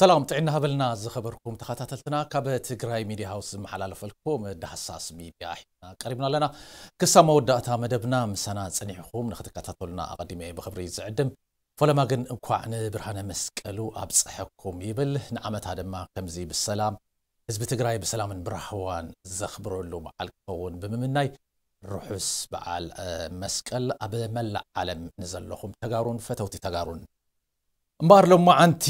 ሰላም ጥዕና ሃበልና ዝኸበርኩም ተኸታተልትና፣ ካብ ትግራይ ሚድያ ሃውስ ዝመሓላለፈልኩም ዳህሳስ ሚድያ ሒዝና ቀሪብና ኣለና። ክሳብ መወዳእታ መደብና ምሳና ጸኒሕኹም ንኽትከታተሉና ኣቐዲመ ብኽብሪ ዝዕድም። ፈለማ ግን እንኳዕ ንብርሃነ መስቀሉ ኣብፀሐኩም ይብል። ንዓመታ ድማ ከምዚ ብሰላም ህዝቢ ትግራይ ብሰላምን ብራህዋን ዘኽብረሉ በዓል ክኸውን ብምምናይ፣ ርሑስ በዓል መስቀል ኣብ መላእ ዓለም ንዘለኹም ተጋሩን ፈተውቲ ተጋሩን። እምበኣር ሎማዓንቲ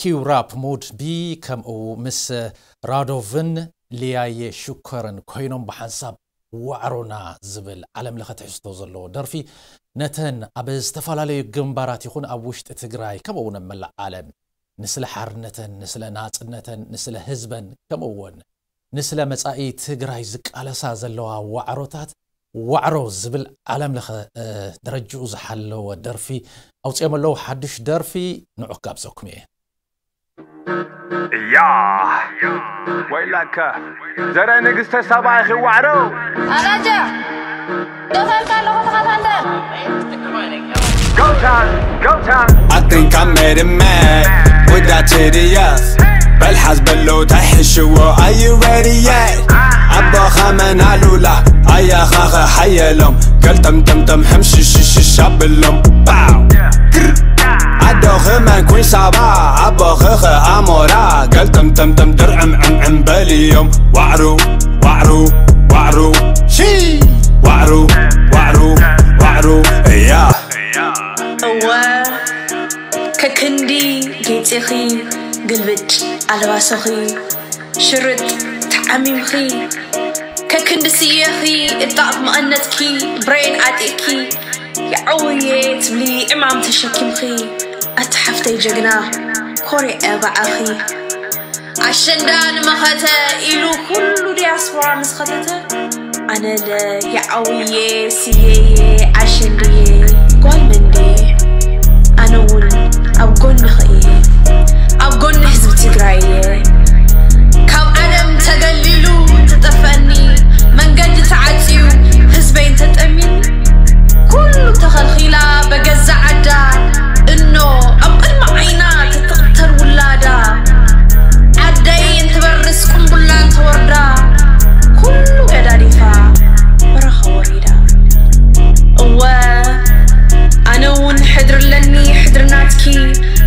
ኪውራፕ ሙድ ቢ ከምኡ ምስ ራዶቭን ሊያየ ሹከርን ኮይኖም ብሓንሳብ ዋዕሮና ዝብል ዓለም ለኸ ትሕዝቶ ዘለዎ ደርፊ ነተን ኣብ ዝተፈላለዩ ግንባራት ይኹን ኣብ ውሽጢ ትግራይ ከምኡ እውን ኣብ መላእ ዓለም ንስለ ሓርነተን ንስለ ናፅነተን ንስለ ህዝበን ከምኡ እውን ንስለ መጻኢ ትግራይ ዝቃለሳ ዘለዋ ዋዕሮታት ዋዕሮ ዝብል ዓለም ለኸ ደረጅኡ ዝሓለወ ደርፊ ኣውፅኦም ኣለዉ። ሓድሽ ደርፊ ንዑ ክጋብዘኩም እየ። እያ ወይላከ ዘረ ንግስተ ሳባ ኢኺ ዋዕሮ ኣላጃ ደኸልካ ኣለኹ ተኻታንደ Go time, go time. I think I made it mad with that titty ass. በልሓዝ በሎ ተሕሽዎ are you ready yet? ኣቦኻ መን ኣሉላ ኣያኻኸ ሓየሎም ገልጠምጠምጠም ሕምሽሽሽሽ ኣብሎም ባው ኣዶኺ መን ኩን ሳባ ኣቦኺኸ ኣሞራ ገልጠምጠምጠም ድርዕምዕምዕም በልዮም ዋዕሩ ዋዕሩ ዋዕሩ ሺ ዋዕሩ ዋዕሩ ዋዕሩ እያ እወ ከክንዲ ጌፅኺ ግልብጭ ኣልባሶኺ ሽርጥ ተዓሚምኺ ከክንዲ ስየኺ እጣቕ መቐነትኪ ብሬን ዓጢቕኪ የዐውየ ትብሊ ዕማም ተሸኪምኺ ኣቲ ሓፍተይ ጀግና ኮሪዐ ባዕኺ ኣሸንዳ ንመኸተ ኢሉ ኩሉ ዲያስፖራ ምስ ኸተተ ኣነለ የዓውየ ስየየ ኣሸንድየ ጓል መንድየ ኣነ እውን ኣብ ጎንኺ እየ ኣብ ጎኒ ህዝቢ ትግራይ እየ ካብ ዓለም ተገሊሉ ተጠፈአኒ መንገዲ ተዓፅዩ ህዝበይ እንተጠሚኒ ኩሉ ተኸልኺላ በገዛ ዓዳ እኖ ኣብ ቅድሚ ዓይና ትትቕተል ውላዳ ዓደይ እንትበርስ ቁምቡላ እንተወርዳ ኩሉ ገዳዲፋ በረኻ ወሪዳ እወ ኣነ እውን ሕድሪ ኣለኒ ሕድሪ ናትኪ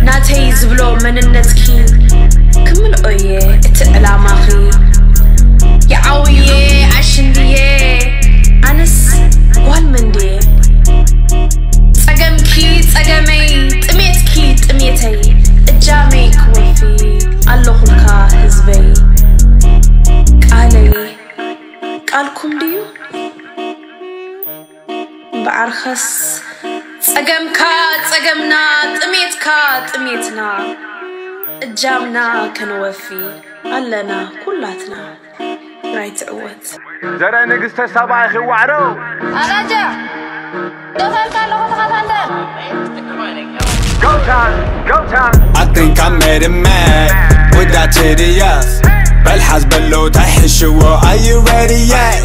ናተይ ዝብሎ መንነትኪ ክምልኦ እየ እቲ ዕላማኺ የዓውየ ኣሽንድየ ኣነስ ጓል መንድየ ጸገምኪ ጸገመይ ጥሜትኪ ጥሜተይ እጃመይ ክወፊ ኣለኹልካ ህዝበይ ቃለይ ቃልኩም ድዩ እምበኣርከስ ጸገምካ ጸገምና ጥሜትካ ጥሜትና እጃምና ከነወፊ ኣለና ኩላትና ትግራይ ትዕወት። ዘረ ንግስተ ሳባ ኢኺ ዋዕሮ ኣላጃ ደኸልካ ኣለኹ ተኻታንደ Go time, go time. I think I made it mad with that titty ass. በልሓዝ በሎ ተሕሽዎ are you ready yet?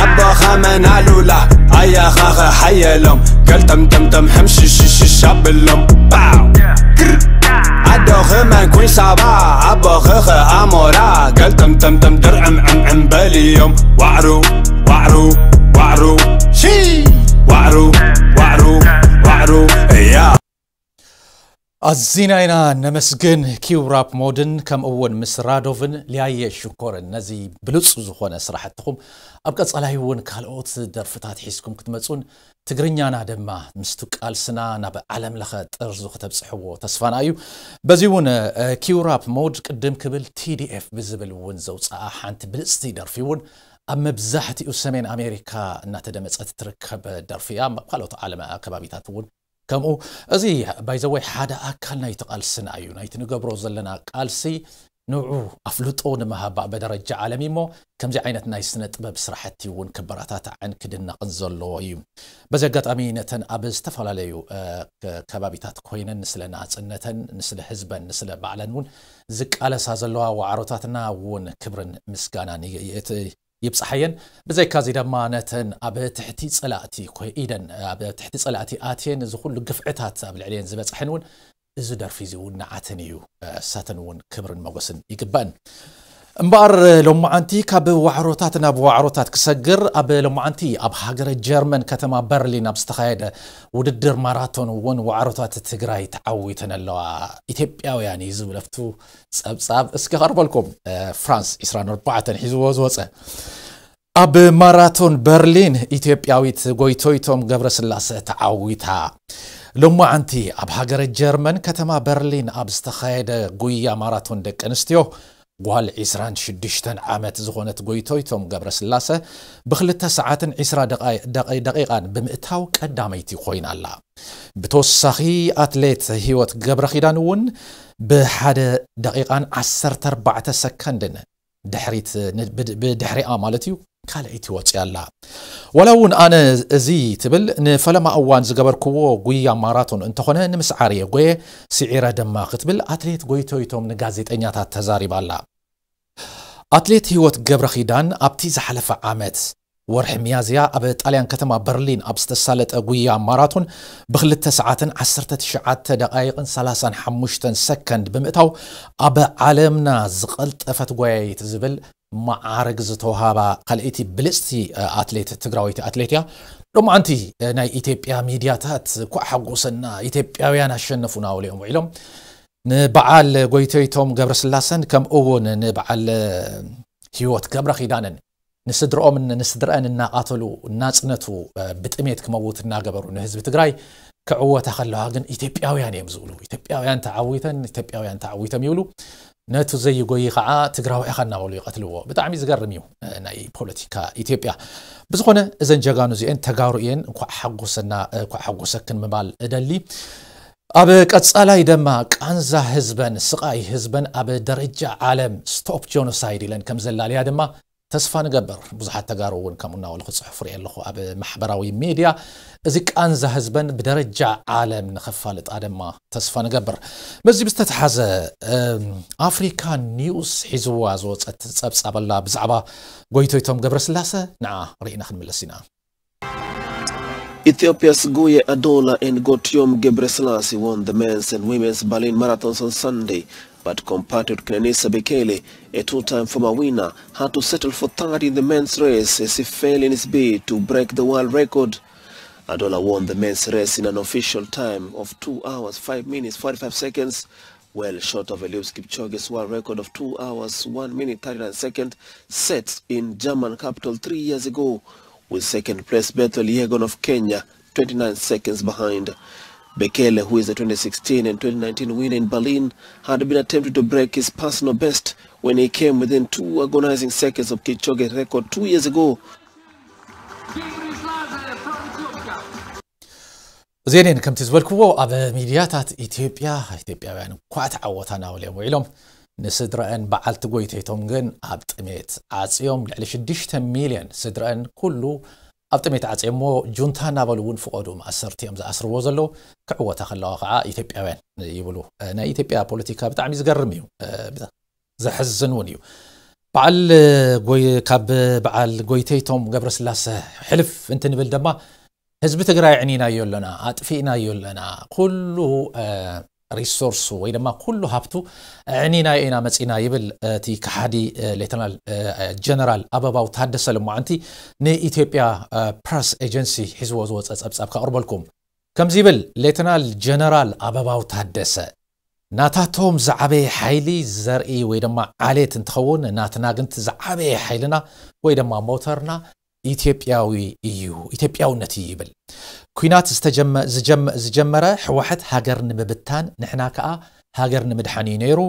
ኣቦኻ መን ኣሉላ ኣያኻኸ ሓየሎም ገልጠምጠምጠም ሕምሽሽሽሽ ኣብሎም ባው ኣዶኺ መን ኩን ሳባ ኣቦኺኸ ኣሞራ ገልጠምጠምጠም ድርዕምዕምዕም በልዮም ዋዕሩ ዋዕሩ ዋዕሩ ሺ ዋዕሩ ዋዕሩ ዋዕሩ እያ ኣዚና ኢና ነመስግን ኪውራፕ ሞድን ከምኡ እውን ምስ ራዶቭን ሊያየ ሽኮርን ነዚ ብሉፅ ዝኾነ ስራሕትኹም ኣብ ቀፃላይ እውን ካልኦት ደርፍታት ሒዝኩም ክትመፁን ትግርኛና ድማ ምስቱ ቃልስና ናብ ዓለም ለኸ ጥርዙ ክተብፅሕዎ ተስፋና እዩ። በዚ እውን ኪውራፕ ሞድ ቅድም ክብል ቲዲኤፍ ብዝብል እውን ዘውፅኣ ሓንቲ ብልፅቲ ደርፊ እውን ኣብ መብዛሕትኡ ሰሜን ኣሜሪካ እናተደመፀት ትርከብ ደርፊ እያ። ኣብ ካልኦት ዓለም ከባቢታት እውን ከምኡ እዚ ባይዘወይ ሓደ ኣካል ናይቲ ቃልስና እዩ ናይቲ ንገብሮ ዘለና ቃልሲ ንዑ ኣፍልጦ ንምሃብ በደረጃ ዓለም እሞ ከምዚ ዓይነት ናይ ስነ ጥበብ ስራሕቲ እውን ክበረታታዕን ክድነቕን ዘለዎ እዩ። በዚ ኣጋጣሚ ነተን ኣብ ዝተፈላለዩ ከባቢታት ኮይነን ንስለ ናፅነተን ንስለ ህዝበን ንስለ ባዕለን እውን ዝቃለሳ ዘለዋ ዋዕሮታትና እውን ክብርን ምስጋናን ይብፅሓየን። ብዘይካዚ ድማ ነተን ኣብ ትሕቲ ፀላእቲ ኮይደን ኣብ ትሕቲ ፀላእቲ ኣትየን እዚ ኩሉ ግፍዕታት ኣብ ልዕሊየን ዝበፅሐን እውን እዚ ደርፊ እዚ እውን ንዓተን እዩ። እሳተን እውን ክብርን ሞገስን ይግባእን። እምበኣር ሎማዓንቲ ካብ ዋዕሮታት ናብ ዋዕሮታት ክሰግር፣ ኣብ ሎማዓንቲ ኣብ ሃገረ ጀርመን ከተማ በርሊን ኣብ ዝተኻየደ ውድድር ማራቶን እውን ዋዕሮታት ትግራይ ተዓዊተን ኣለዋ። ኢትዮጵያውያን እዩ ዝብል ኣብቱ ጸብጻብ እስከ ከቕርበልኩም። ፍራንስ ዕስራን ኣርባዕተን ሒዝዎ ዝወጸ። ኣብ ማራቶን በርሊን ኢትዮጵያዊት ጎይቶይቶም ገብረስላሰ ተዓዊታ። ሎማዓንቲ ኣብ ሃገረ ጀርመን ከተማ በርሊን ኣብ ዝተኻየደ ጉያ ማራቶን ደቂ ኣንስትዮ ጓል ዕስራን ሽዱሽተን ዓመት ዝኾነት ጎይቶይቶም ገብረስላሰ ብክልተ ሰዓትን ዕስራ ደቃይ- ደቂ- ደቂቃን ብምእታው ቀዳመይቲ ኮይና ኣላ። ብተወሳኺ ኣትሌት ህይወት ገብረኺዳን እውን ብሓደ ደቂቃን ዓሰርተ ኣርባዕተ ሰከንድን ድሕሪት ን- ብድ- ብድሕሪኣ ማለት እዩ ካልኣይቲ ወፂኣ ኣላ። ዋላ እውን ኣነ እዚ ትብል ንፈለማ እዋን ዝገበርክዎ ጉያ ማራቶን እንተኾነ ንምስዓር እየ ጎየ ስዒረ ድማ ክትብል ኣትሌት ጎይቶይቶም ንጋዜጠኛታት ተዛሪባ ኣላ። ኣትሌት ህይወት ገብረኺዳን ኣብቲ ዝሓለፈ ዓመት ወርሒ ሚያዝያ ኣብ ጣልያን ከተማ በርሊን ኣብ ዝተሳለጠ ጉያ ማራቶን ብክልተ ሰዓትን ዓሰርተ ትሽዓተ ደቃይቕን ሰላሳን ሓሙሽተን ሰከንድ ብምእታው ኣብ ዓለምና ዝቐልጠፈት ጎያይት ዝብል መዓርግ ዝተውሃባ ካልኣይቲ ብልፅቲ ኣትሌት ትግራወይቲ ኣትሌት እያ። ሎማዓንቲ ናይ ኢትዮጵያ ሚድያታት ኳዕ ሓጎሰና ኢትዮጵያውያን ኣሸነፉ ናበሉ እዮም ውዒሎም። ንበዓል ጎይቶይቶም ገብረስላሰን ከምኡ እውን ንበዓል ህይወት ገብረ ኪዳንን ንስድርኦምን ንስድረአን እናቓተሉ እናጽነቱ ብጥሜት ክመውት እናገበሩ ንህዝቢ ትግራይ ክዕወታ ከለዋ ግን ኢትዮጵያውያን እዮም ዝብሉ። ኢትዮጵያውያን ተዓዊተን ኢትዮጵያውያን ተዓዊቶም ይብሉ። ነቱ ዘይጎይ ከዓ ትግራዊ ኢኻ እናበሉ ይቐትልዎ። ብጣዕሚ ዝገርም እዩ ናይ ፖለቲካ ኢትዮጵያ። ብዝኾነ እዘን ጀጋኑ እዚአን ተጋሩ እየን። እንኳዕ ሓጎሰና እንኳዕ ሓጎሰክን ምባል እደሊ። ኣብ ቀጻላይ ድማ ቃንዛ ህዝበን ስቓይ ህዝበን ኣብ ደረጃ ዓለም ስቶፕ ጆኖሳይድ ኢለን ከም ዘላለያ ድማ ተስፋ ንገብር። ብዙሓት ተጋሩ እውን ከምኡ እናበሉ ክፅሕፉ ርኢ ኣለኹ ኣብ ማሕበራዊ ሚድያ። እዚ ቃንዛ ህዝበን ብደረጃ ዓለም ንኸፋልጣ ድማ ተስፋ ንገብር። በዚ ብዝተተሓዘ ኣፍሪካ ኒውስ ሒዝዋ ዝወፀት ፀብፃብ ኣላ ብዛዕባ ጎይቶይቶም ገብረስላሰ። ንዓ ርኢና ክንምለስ ኢና። Ethiopia's Guye Adola and Gotiom Gebrselassie won the men's and women's Berlin marathons on Sunday, but compatriot Kenenisa Bekele, a two-time former winner, had to settle for third in the men's race as he fell in his bid to break the world record. Adola won the men's race in an official time of two hours, five minutes, forty-five seconds, well short of Eliud Kipchoge's world record of two hours, one minute, thirty-nine seconds, set in German capital three years ago, with second place Bethel Yegon of Kenya, twenty-nine seconds behind. Bekele, who is the twenty sixteen and twenty nineteen winner in Berlin, had been attempting to break his personal best when he came within two agonizing seconds of Kipchoge's record two years ago. እዚአን ከምቲ ዝበልክዎ ኣብ ሚድያታት ኢትዮጵያ ኢትዮጵያውያን እኳ ተዓወታ ናበሉ እዮም ውዒሎም። ንስድረአን በዓልቲ ጎይተይቶም ግን ኣብ ጥሜት ዓፅዮም። ልዕሊ ሽዱሽተ ሚልዮን ስድረአን ኩሉ ኣብ ጥሜት ዓፅዮሞ። ጁንታ እናበሉ እውን ፍቐዱ ማእሰርቲ እዮም ዝኣስርዎ ዘለዉ። ክዕወታ ከለዋ ከዓ ኢትዮጵያውያን ይብሉ። ናይ ኢትዮጵያ ፖለቲካ ብጣዕሚ ዝገርም እዩ። ዘሕዝን እውን እዩ። በዓል ካብ በዓል ጎይተይቶም ገብረስላሰ ሕልፍ እንትንብል ድማ ህዝቢ ትግራይ ዕኒናዮ ኣለና፣ ኣጥፊእናዮ ኣለና፣ ኩሉ ሪሶርሱ ወይ ድማ ኩሉ ሃብቱ ዕኒናዮ ኢና መፂና ይብል እቲ ከሓዲ ሌተናል ጀነራል ኣበባው ታደሰ። ልማዓንቲ ንኢትዮጵያ ፕረስ ኤጀንሲ ሒዝዎ ዝወፀ ፀብፃብ ከቕርበልኩም። ከምዚ ይብል ሌተናል ጀነራል ኣበባው ታደሰ። ናታቶም ዝዓበየ ሓይሊ ዘርኢ ወይ ድማ ዓሌት እንትኸውን ናትና ግን ዝዓበየ ሓይልና ወይ ድማ ሞተርና ኢትዮጵያዊ እዩ፣ ኢትዮጵያውነት እዩ ይብል። ኩናት ዝተጀመ- ዝጀመ- ዝጀመረ ህወሓት ሃገር ንምብታን ንሕና ከዓ ሃገር ንምድሓን እዩ ነይሩ።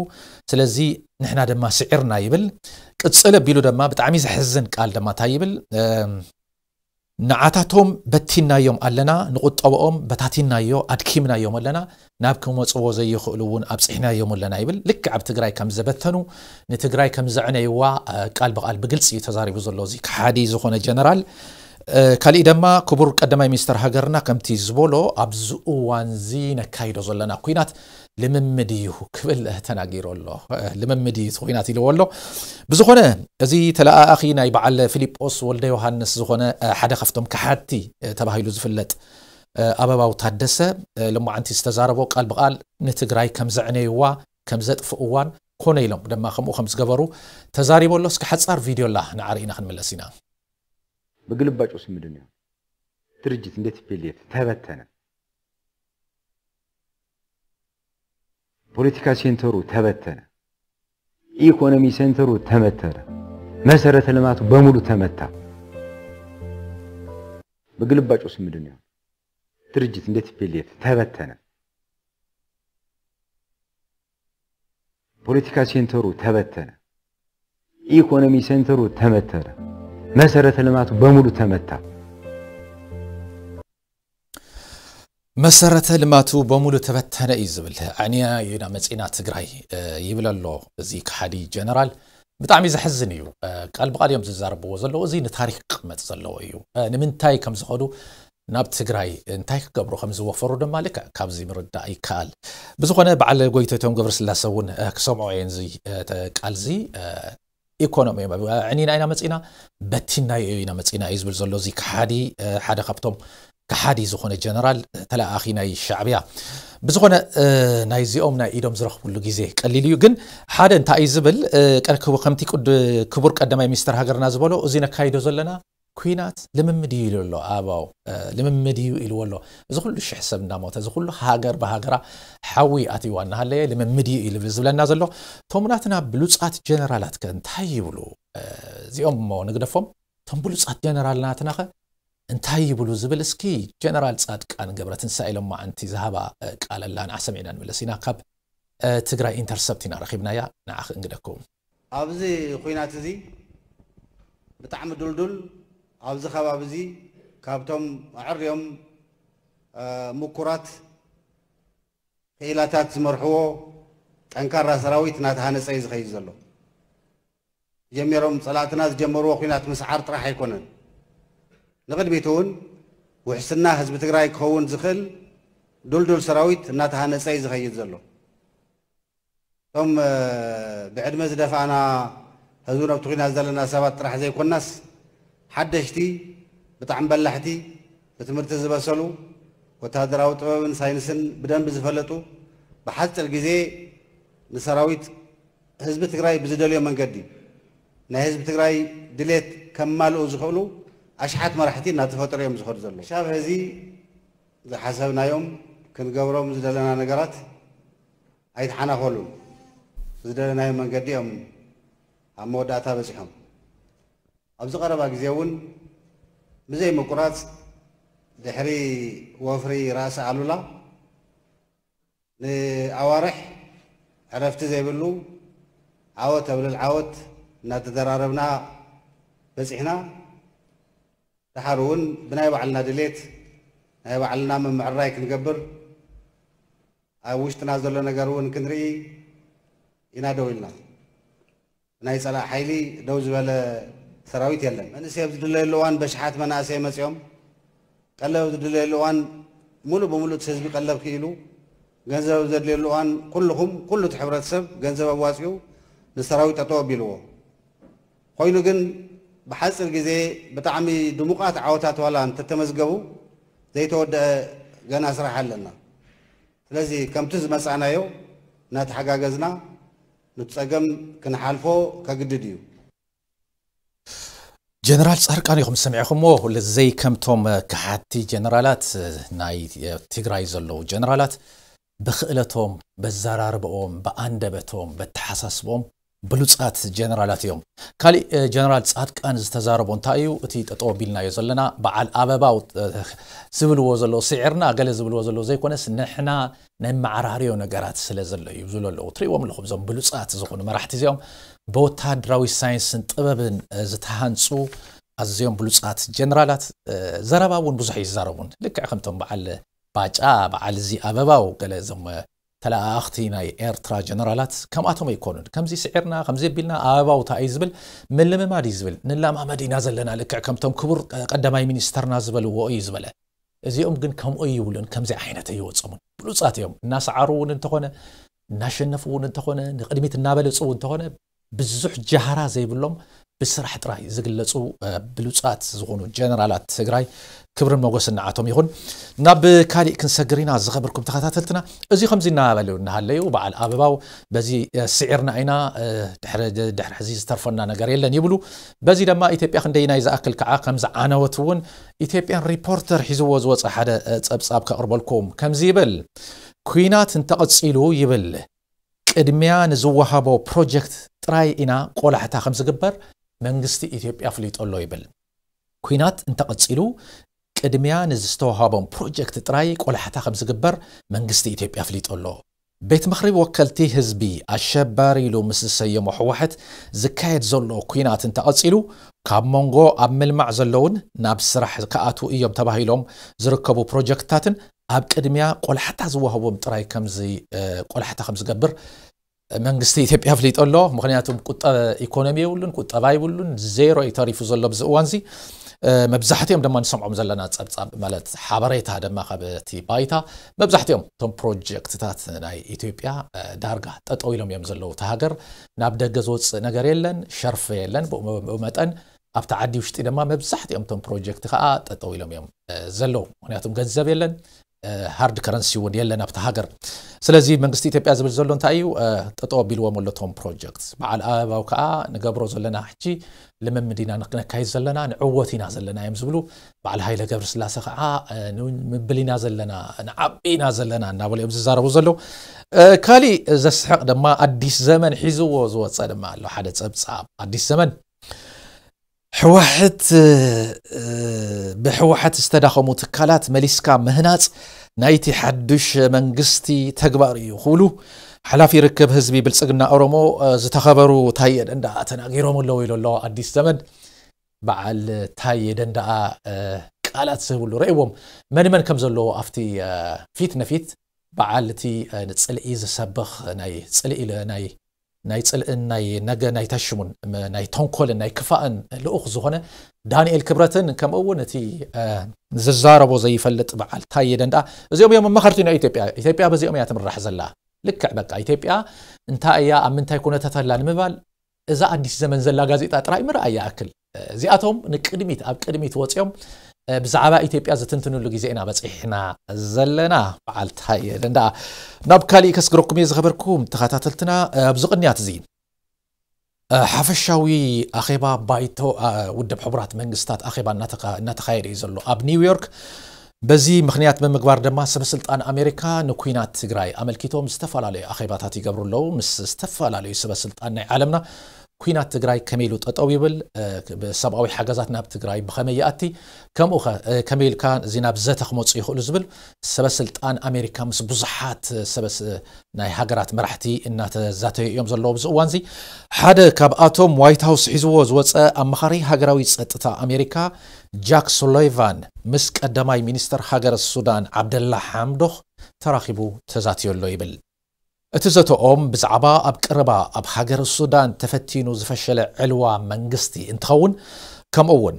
ስለዚ ንሕና ድማ ስዒርና ይብል። ቅፅል ኣቢሉ ድማ ብጣዕሚ ዘሕዝን ቃል ድማ እንታይ ይብል? ንዓታቶም በቲናዮም ኣለና፣ ንቁጠብኦም በታቲናዮ ኣድኪምናዮም ኣለና፣ ናብ ክመፅዎ ዘይኽእሉ እውን ኣብፂሕናዮም ኣለና ይብል። ልክዕ ኣብ ትግራይ ከም ዘበተኑ ንትግራይ ከም ዘዕነይዋ ቃል ብቃል ብግልፂ እዩ ተዛሪቡ ዘሎ እዚ ከሓዲ ዝኾነ ጀነራል። ካሊእ ድማ ክቡር ቀዳማይ ሚኒስተር ሃገርና ከምቲ ዝበሎ ኣብዚ እዋን እዚ ነካይዶ ዘለና ኩናት ልምምድ እዩ ክብል ተናጊሩ ኣሎ። ልምምድ እዩ እቲ ኩናት ኢልዎ ኣሎ። ብዝኾነ እዚ ተለኣኣኺ ናይ በዓል ፊሊጶስ ወልደ ዮሃንስ ዝኾነ ሓደ ካብቶም ከሓድቲ ተባሂሉ ዝፍለጥ ኣበባው ታደሰ ሎማዓንቲ ዝተዛረቦ ቃል ብቓል ንትግራይ ከም ዘዕነይዋ ከም ዘጥፍእዋን ኮነ ኢሎም ድማ ከምኡ ከም ዝገበሩ ተዛሪቦ ኣሎ። እስኪ ሓጻር ቪድዮ ኣላ ንዓርኢና ክንምለስ ኢና። በግልባጭ ውስጥ ምንድን ነው ድርጅት እንዴት ፒኤልኤፍ ተበተነ? ፖለቲካ ሴንተሩ ተበተነ። ኢኮኖሚ ሴንተሩ ተመተረ። መሰረተ ልማቱ በሙሉ ተመታ። በግልባጭ ውስጥ ምንድን ነው ድርጅት እንዴት ፒኤልኤፍ ተበተነ? ፖለቲካ ሴንተሩ ተበተነ። ኢኮኖሚ ሴንተሩ ተመተረ። መሰረተ ልማቱ በሙሉ ተመታ። መሰረተ ልማቱ በሙሉ ተበተነ እዩ ዝብል። ኣዕንያ ኢና መጺና ትግራይ ይብል ኣሎ እዚ ከሓዲ ጀነራል። ብጣዕሚ ዘሕዝን እዩ። ቃል ብቃል እዮም ዝዛረብዎ ዘለዉ። እዚ ንታሪክ ክቕመጥ ዘለዎ እዩ። ንምንታይ ከም ዝኸዱ ናብ ትግራይ እንታይ ክገብሩ ከም ዝወፈሩ ድማ ልክዕ ካብዚ ምርዳእ ይከኣል። ብዝኾነ በዓል ጎይቶቶም ገብረስላሰ እውን ክሰምዖ እየን እዚ ቃልዚ ኢኮኖሚ እዮም ዕኒና ኢና መፂና በቲናዮ ኢና መፂና እዩ ዝብል ዘሎ እዚ ከሓዲ ሓደ ካብቶም ከሓዲ ዝኾነ ጀነራል ተለኣኺ ናይ ሻዕብያ ብዝኾነ ናይዚኦም ናይ ኢዶም ዝረኽብሉ ግዜ ቀሊል እዩ ግን ሓደ እንታይ እዩ ዝብል ከምቲ ክቡር ቀዳማይ ሚኒስትር ሃገርና ዝበሎ እዚ ነካይዶ ዘለና ኩናት ልምምድ እዩ ኢሉ ኣሎ ኣባው ልምምድ እዩ ኢልዎ ኣሎ እዚ ኩሉ ሽሕ ሰብ እናሞተ እዚ ኩሉ ሃገር ብሃገራ ሓዊ ኣትይዋ እናሃለየ ልምምድ እዩ ኢሉ ዝብለና ዘሎ እቶም ናትና ብሉፃት ጀነራላት ከ እንታይ ይብሉ እዚኦም እሞ ንግደፎም እቶም ብሉፃት ጀነራል ናትና ከ እንታይ ይብሉ ዝብል እስኪ ጀነራል ፃድቃን ገብረትንሳኤ ኢሎም ማዓንቲ ዝሃባ ቃል ኣላ ንዓ ሰሚዕና ንምለስ ኢና ካብ ትግራይ ኢንተርሰፕት ኢና ረኺብናያ ንዓ ክንግደኩም ኣብዚ ኹናት እዚ ብጣዕሚ ዱልዱል ኣብዚ ከባቢ እዚ ካብቶም ኣዕርዮም ምኩራት ክኢላታት ዝመርሕዎ ጠንካራ ሰራዊት እናተሃነፀ እዩ ዝኸይድ ዘሎ። ጀሚሮም ፀላእትና ዝጀመርዎ ኹናት ምስዓር ጥራሕ ኣይኮነን። ንቕድሚት እውን ውሕስና ህዝቢ ትግራይ ክኸውን ዝኽእል ዱልዱል ሰራዊት እናተሃነፀ እዩ ዝኸይድ ዘሎ። እቶም ብዕድመ ዝደፋእና ህዝቢ ነብቲ ኩናት ዘለና ሰባት ጥራሕ ዘይኮናስ ሓደሽቲ ብጣዕሚ በላሕቲ ብትምህርቲ ዝበሰሉ ወታደራዊ ጥበብን ሳይንስን ብደንቢ ዝፈለጡ ብሓፂር ግዜ ንሰራዊት ህዝቢ ትግራይ ብዝደልዮ መንገዲ ናይ ህዝቢ ትግራይ ድሌት ከማልኡ ዝኽእሉ ኣሽሓት መራሕቲ እናተፈጠሩ እዮም ዝኸዱ ዘለዉ። ክሻብ ሕዚ ዝሓሰብናዮም ክንገብሮም ዝደለና ነገራት ኣይተሓናኸሉን። ዝደለናዮ መንገዲ እዮም ኣብ መወዳእታ በፂሖም። ኣብዚ ቀረባ ግዜ እውን ብዘይ ምቁራፅ ድሕሪ ወፍሪ ራእሲ ኣሉላ ንኣዋርሕ ዕረፍቲ ዘይብሉ ዓወት ኣብ ልዕሊ ዓወት እናተደራረብና በፂሕና። ደሓር እውን ብናይ ባዕልና ድሌት ናይ ባዕልና ምምዕርራይ ክንገብር ኣብ ውሽጥና ዘሎ ነገር እውን ክንርኢ ኢና ደው ኢልና። ናይ ፀላእ ሓይሊ ደው ዝበለ ሰራዊት የለን። መንእሰይ ኣብ ዝድለየሉ እዋን በሽሓት መናእሰይ መፂኦም ቀለብ ኣብ ዝድለየሉ እዋን ሙሉእ ብሙሉእ እቲ ህዝቢ ቀለብ ክኢሉ ገንዘብ ኣብ ዘድልየሉ እዋን ኩልኹም ኩሉ እቲ ሕብረተሰብ ገንዘብ ኣዋፂኡ ንሰራዊት ጠጠው ኣቢልዎ። ኮይኑ ግን ብሓፂር ግዜ ብጣዕሚ ድሙቓት ዓወታት ዋላ እንተተመዝገቡ ዘይተወደአ ገና ስራሕ ኣለና። ስለዚ ከምቲ ዝመፃእናዮ እናተሓጋገዝና ንቲ ፀገም ክንሓልፎ ከግድድ እዩ። ጀነራል ፃርቃን ኢኹም ሰሚዕኹምዎ። ለዘይ ከምቶም ከሓድቲ ጀነራላት ናይ ትግራይ ዘለዉ ጀነራላት ብክእለቶም፣ በዘራርበኦም፣ ብኣንደበቶም፣ በተሓሳስበኦም ብሉፃት ጀነራላት እዮም። ካሊእ ጀነራል ፃድቃን ዝተዛረቦ እንታይ እዩ እቲ ጠጠው ኣቢልናዮ ዘለና በዓል ኣበባው ዝብልዎ ዘለዉ ስዒርና ገለ ዝብልዎ ዘለዉ ዘይኮነስ ንሕና ነመዓራርዮ ነገራት ስለ ዘሎ እዩ ዝብሉ ኣለዉ። ትሪእዎም ኣለኹም እዞም ብሉፃት ዝኾኑ መራሕቲ እዚኦም ብወታደራዊ ሳይንስን ጥበብን ዝተሃንፁ ኣዝዮም ብሉፃት ጀነራላት ዘረባ እውን ብዙሕ ይዛረቡን ልክዕ ከምቶም በዓል ባጫ በዓል እዚ ኣበባው ገለ እዞም ተለኣኣኽቲ ናይ ኤርትራ ጀነራላት ከምኣቶም ኣይኮኑን። ከምዚ ስዒርና ከምዚ ኣቢልና ኣበባው እንታይ እዩ ዝብል ምልምማድ እዩ ዝብል ንለማመድ ኢና ዘለና ልክዕ ከምቶም ክቡር ቀዳማይ ሚኒስተርና ዝበልዎ እዩ ዝበለ። እዚኦም ግን ከምኡ ይብሉን ከምዚ ዓይነት ኣይወፀሙን ብሉፃት እዮም እናሰዓሩ እውን እንተኾነ እናሸነፉ እውን እንተኾነ ንቅድሚት እናበለፁ እውን እንተኾነ ብዙሕ ጃህራ ዘይብሎም ብስራሕ ጥራይ ዝግለጹ ብሉጻት ዝኾኑ ጀነራላት ትግራይ ክብርን ሞገስን ንዓቶም ይኹን። ናብ ካሊእ ክንሰግር ኢና። ዝኸበርኩም ተኸታተልትና፣ እዚ ከምዚ እናበሉ እናሃለዩ፣ በዓል ኣበባው በዚ ስዒርና ኢና፣ ድሕሪ ሕዚ ዝተርፈና ነገር የለን ይብሉ። በዚ ድማ ኢትዮጵያ ክንደይናይ ዝኣክል ከዓ ከም ዝዓነወት እውን ኢትዮጵያን ሪፖርተር ሒዝዎ ዝወፀ ሓደ ፀብፃብ ከቕርበልኩም። ከምዚ ይብል። ኩናት እንተቐፂሉ ይብል ቅድሚያ ንዝወሃቦ ፕሮጀክት ጥራይ ኢና ቆላሕታ ከም ዝግበር መንግስቲ ኢትዮጵያ ኣፍሊጡ ኣሎ ይብል። ኩናት እንተቐፂሉ ቅድሚያ ንዝተወሃቦም ፕሮጀክት ጥራይ ቆላሕታ ከም ዝግበር መንግስቲ ኢትዮጵያ ኣፍሊጡ ኣሎ። ቤት ምኽሪ ወከልቲ ህዝቢ ኣሸባሪ ኢሉ ምስ ዝሰየሞ ህወሓት ዝካየድ ዘሎ ኩናት እንተቐፂሉ ካብ መንጎ ኣብ ምልማዕ ዘለውን ናብ ስራሕ ክኣትዉ እዮም ተባሂሎም ዝርከቡ ፕሮጀክትታትን ኣብ ቅድሚያ ቆላሕታ ዝወሃቦም ጥራይ ከምዚ ቆላሕታ ከም ዝገብር መንግስቲ ኢትዮጵያ ኣፍሊጡ ኣሎ። ምክንያቱም ቁጠ ኢኮኖሚ የብሉን፣ ቁጠባ የብሉን፣ ዜሮ እዩ ተሪፉ ዘሎ ኣብዚ እዋን እዚ። መብዛሕትኦም ድማ ንሰምዖም ዘለና ፀብፃብ ማለት ሓበሬታ ድማ ካብ እቲ ባይታ መብዛሕትኦም እቶም ፕሮጀክትታት ናይ ኢትዮጵያ ዳርጋ ጠጠው ኢሎም እዮም ዘለዉ። እቲ ሃገር ናብ ደገ ዝወፅእ ነገር የለን፣ ሸርፈ የለን። ብኡ መጠን ኣብቲ ዓዲ ውሽጢ ድማ መብዛሕትኦም እቶም ፕሮጀክት ከዓ ጠጠው ኢሎም እዮም ዘለዉ። ምክንያቱም ገንዘብ የለን፣ ሃርድ ከረንሲ እውን የለን ኣብቲ ሃገር። ስለዚ መንግስቲ ኢትዮጵያ ዝብል ዘሎ እንታይ እዩ? ጠጠው ኣቢልዎም ኣሎ እቶም ፕሮጀክት። በዓል ኣበባው ከዓ ንገብሮ ዘለና ሕጂ ልምምድ ኢና ነካይድ ዘለና፣ ንዕወት ኢና ዘለና እዮም ዝብሉ። በዓል ሃይለ ገብረስላሴ ከዓ ንምብል ኢና ዘለና፣ ንዓቢ ኢና ዘለና እናበሉ እዮም ዝዛረቡ ዘለዉ። ካሊእ ዘስሕቕ ድማ ኣዲስ ዘመን ሒዝዎ ዝወፀ ድማ ኣሎ ሓደ ፀብፃብ። ኣዲስ ዘመን ህወሓት ብህወሓት ዝተዳኸሙ ትካላት መሊስካ ምህናፅ ናይቲ ሓዱሽ መንግስቲ ተግባር እዩ ክብሉ ሓላፊ ርክብ ህዝቢ ብልፅግና ኦሮሞ ዝተኸበሩ ታየ ደንዳ ተናጊሮም ኣለዉ ኢሉ ኣሎ ኣዲስ ዘመን። በዓል ታየ ደንዳ ቃላት ዝህብሉ ረእዎም መን መን ከም ዘለዎ ኣብቲ ፊት ንፊት በዓል እቲ ንፅልኢ ዝሰብኽ ናይ ፅልኢ ናይ ናይ ፅልእን ናይ ነገ ናይ ታሽሙን ናይ ተንኮልን ናይ ክፋእን ልኡኽ ዝኾነ ዳንኤል ክብረትን ከምኡ እውን እቲ ዝዛረቦ ዘይፈልጥ በዓል ታየ ደንዳ እዚኦም እዮም ኣማኸርቲ ናይ ኢትዮጵያ። ኢትዮጵያ በዚኦም እያ ትምራሕ ዘላ። ልክዕ በቃ ኢትዮጵያ እንታይ እያ ኣብ ምንታይ ኩነታት ኣላ ንምባል እዛ ኣዲስ ዘመን ዘላ ጋዜጣ ጥራይ ምርኣይ ይኣክል። እዚኣቶም ንቅድሚት ኣብ ቅድሚት ወፂኦም ብዛዕባ ኢትዮጵያ ዝትንትንሉ ግዜ ኢና በፂሕና ዘለና። በዓል ታየ ደንዳ ናብ ካሊእ ከስግረኩም እየ ዝኸበርኩም ተኸታተልትና። ኣብዚ ቅንያት እዚ ሓፈሻዊ ኣኼባ ባይቶ ውድብ ሕቡራት መንግስታት ኣኼባ እናተኻየደ እዩ ዘሎ ኣብ ኒውዮርክ። በዚ ምክንያት ብምግባር ድማ ሰበስልጣን ኣሜሪካ ንኩናት ትግራይ ኣመልኪቶም ዝተፈላለዩ ኣኼባታት ይገብሩ ኣለዉ። ምስ ዝተፈላለዩ ሰበስልጣን ናይ ዓለምና ኩናት ትግራይ ከመይ ኢሉ ጠጠው ይብል፣ ሰብኣዊ ሓገዛት ናብ ትግራይ ብኸመይ ይኣቲ፣ ከምኡ ከ ከመይ ኢልካ እዚ ናብ ዘተ ክመፁ ይኽእሉ ዝብል ሰበስልጣን ኣሜሪካ ምስ ብዙሓት ሰበስ ናይ ሃገራት መራሕቲ እናተዛተዩ እዮም ዘለዉ ኣብዚ እዋን እዚ። ሓደ ካብኣቶም ዋይት ሃውስ ሒዝዎ ዝወፀ ኣማኻሪ ሃገራዊ ፀጥታ ኣሜሪካ ጃክ ሱሊቫን ምስ ቀዳማይ ሚኒስተር ሃገረ ሱዳን ዓብደላ ሓምዶክ ተራኺቡ ተዛትዮ ኣሎ ይብል። እቲ ዘተኦም ብዛዕባ ኣብ ቀረባ ኣብ ሃገረ ሱዳን ተፈቲኑ ዝፈሸለ ዕልዋ መንግስቲ እንትኸውን ከምኡ እውን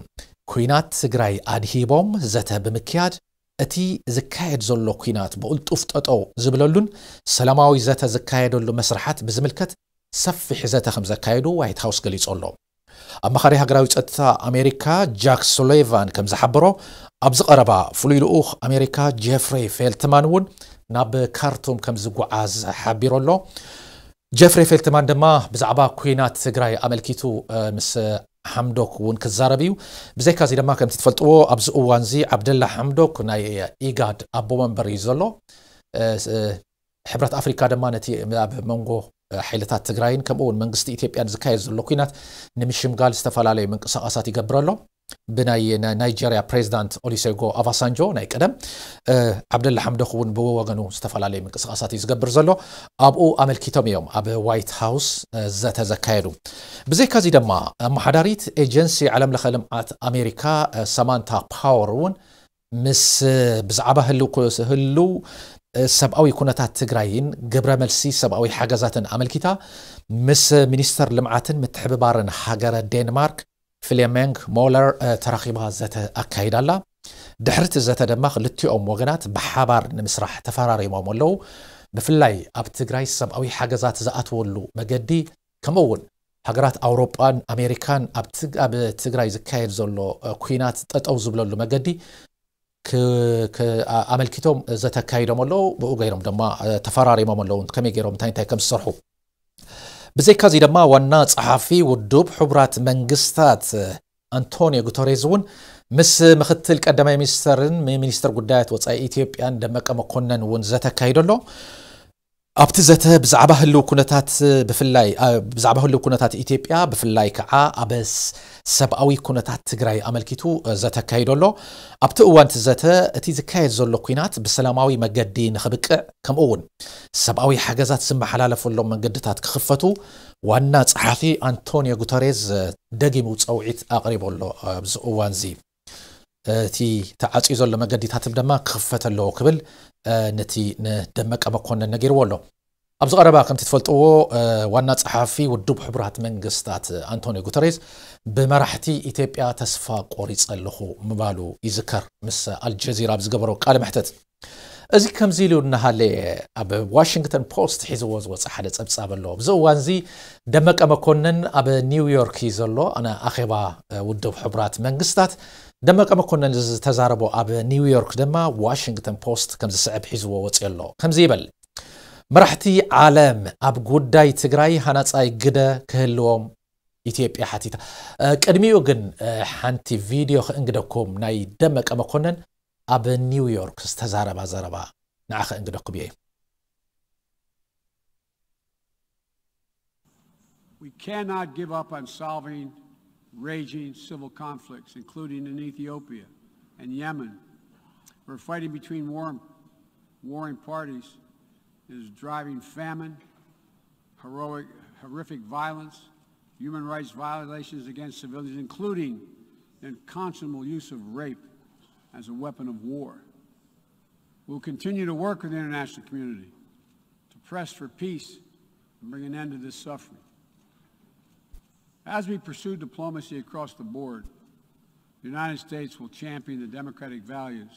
ኩናት ትግራይ ኣድሂቦም ዘተ ብምክያድ እቲ ዝካየድ ዘሎ ኩናት ብቕልጡፍ ጠጠው ዝብለሉን ሰላማዊ ዘተ ዝካየደሉ መስርሓት ብዝምልከት ሰፊሕ ዘተ ከም ዘካየዱ ዋይት ሃውስ ገሊጹ ኣሎ። ኣማኻሪ ሃገራዊ ጸጥታ ኣሜሪካ ጃክ ሱሊቫን ከም ዝሓበሮ ኣብዚ ቀረባ ፍሉይ ልኡኽ ኣሜሪካ ጀፍሪ ፌልትማን እውን ናብ ካርቱም ከም ዝጓዓዝ ሓቢሩ ኣሎ። ጀፍሪ ፌልትማን ድማ ብዛዕባ ኩናት ትግራይ ኣመልኪቱ ምስ ሓምዶክ እውን ክዛረብ እዩ። ብዘይካዚ ድማ ከምቲ ትፈልጥዎ ኣብዚ እዋንዚ ዓብደላ ሓምዶክ ናይ ኢጋድ ኣቦ መንበር እዩ ዘሎ። ሕብረት ኣፍሪካ ድማ ነቲ ኣብ መንጎ ሓይልታት ትግራይን ከምኡ እውን መንግስቲ ኢትዮጵያን ዝካየድ ዘሎ ኩናት ንምሽምጋል ዝተፈላለዩ ምንቅስቃሳት ይገብር ኣሎ። ብናይ ናይጀርያ ፕሬዚዳንት ኦሊሴጎ ኣባሳንጆ ናይ ቀደም ዓብደላ ሓምዶክ እውን ብወገኑ ዝተፈላለዩ ምንቅስቃሳት እዩ ዝገብር ዘሎ። ኣብኡ ኣመልኪቶም እዮም ኣብ ዋይት ሃውስ ዘተ ዘካየዱ። ብዘይካዚ ድማ ኣመሓዳሪት ኤጀንሲ ዓለም ለኸ ልምዓት ኣሜሪካ ሰማንታ ፓወር እውን ምስ ብዛዕባ ህልው ሰብኣዊ ኩነታት ትግራይን ግብረ መልሲ ሰብኣዊ ሓገዛትን ኣመልኪታ ምስ ሚኒስተር ልምዓትን ምትሕብባርን ሃገረ ዴንማርክ ፍሌሜንግ ሞለር ተራኺባ ዘተ ኣካይዳ ኣላ። ድሕሪ እቲ ዘተ ድማ ክልቲኦም ወገናት ብሓባር ንምስራሕ ተፈራሪሞም ኣለዉ። ብፍላይ ኣብ ትግራይ ሰብኣዊ ሓገዛት ዝኣትወሉ መገዲ ከምኡ እውን ሃገራት ኣውሮጳን ኣሜሪካን ኣብ ትግ- ኣብ ትግራይ ዝካየድ ዘሎ እ፣ ኲናት ጠጠው ዝብለሉ መገዲ ክ- ክ- ኣ- ኣመልኪቶም ዘተ ኣካይዶም ኣለዉ። ብኡ ገይሮም ድማ እ፣ ተፈራሪሞም ኣለዉ ከመይ ገይሮም እንታይ እንታይ ከም ዝሰርሑ። ብዘይካዚ ድማ ዋና ጸሓፊ ውድብ ሕቡራት መንግስታት ኣንቶኒዮ ጉተሬዝ እውን ምስ ምክትል ቀዳማይ ሚኒስተርን ሚኒስተር ጉዳያት ወጻኢ ኢትዮጵያን ደመቀ መኮነን እውን ዘተ ኣካይዶ ኣሎ። ኣብቲ ዘተ ብዛዕባ ህልው ኩነታት ብፍላይ ብዛዕባ ህልው ኩነታት ኢትዮጵያ ብፍላይ ከዓ ኣብ ሰብኣዊ ኩነታት ትግራይ ኣመልኪቱ ዘተ ኣካይዶ ኣሎ። ኣብቲ እዋን እቲ ዘተ እቲ ዝካየድ ዘሎ ኲናት ብሰላማዊ መገዲ ንኽብቅዕ ከምኡ እውን ሰብኣዊ ሓገዛት ዝመሓላለፈሎም መንገድታት ክኽፈቱ ዋና ጸሓፊ ኣንቶኒዮ ጉተሬዝ ደጊሙ ጸውዒት ኣቕሪቡ ኣሎ። ኣብዚ እዋን እዚ እቲ ተዓፅዩ ዘሎ መገዲታት ድማ ክኽፈት ኣለዎ ክብል ነቲ ንደመቀ መኮነን ነጊርዎ ኣሎ። ኣብዚ ቀረባ ከምቲ ትፈልጥዎ ዋና ጸሓፊ ውድብ ሕቡራት መንግስታት ኣንቶኒዮ ጉተሬዝ ብመራሕቲ ኢትዮጵያ ተስፋ ቆሪጸ ኣለኹ ምባሉ ይዝከር ምስ ኣልጀዚራ ኣብ ዝገበሮ ቃለ መሕተት። እዚ ከምዚ ኢሉ እናሃለ ኣብ ዋሽንግተን ፖስት ሒዝዎ ዝወፀ ሓደ ፀብፃብ ኣሎ። ኣብዚ እዋን እዚ ደመቀ መኮነን ኣብ ኒውዮርክ እዩ ዘሎ። ኣነ ኣኼባ ውድብ ሕቡራት መንግስታት ደመቀ መኮነን ዝተዛረቦ ኣብ ኒውዮርክ ድማ ዋሽንግተን ፖስት ከምዚ ስዕብ ሒዝዎ ወፂኡ ኣሎ። ከምዚ ይበል፣ መራሕቲ ዓለም ኣብ ጉዳይ ትግራይ ሃናፃይ ግደ ክህልዎም ኢትዮጵያ ሓቲታ። ቅድሚኡ ግን ሓንቲ ቪድዮ ክእንግደኩም ናይ ደመቀ መኮነን ኣብ ኒውዮርክ ዝተዛረባ ዘረባ ንዓ ክእንግደኩም እየ። We cannot give up on solving raging civil conflicts, including in Ethiopia and Yemen, where fighting between war, warring parties is driving famine, heroic, horrific violence, human rights violations against civilians, including the unconscionable use of rape as a weapon of war. We'll continue to work with the international community to press for peace and bring an end to this suffering. As we pursue diplomacy across the board, the United States will champion the democratic values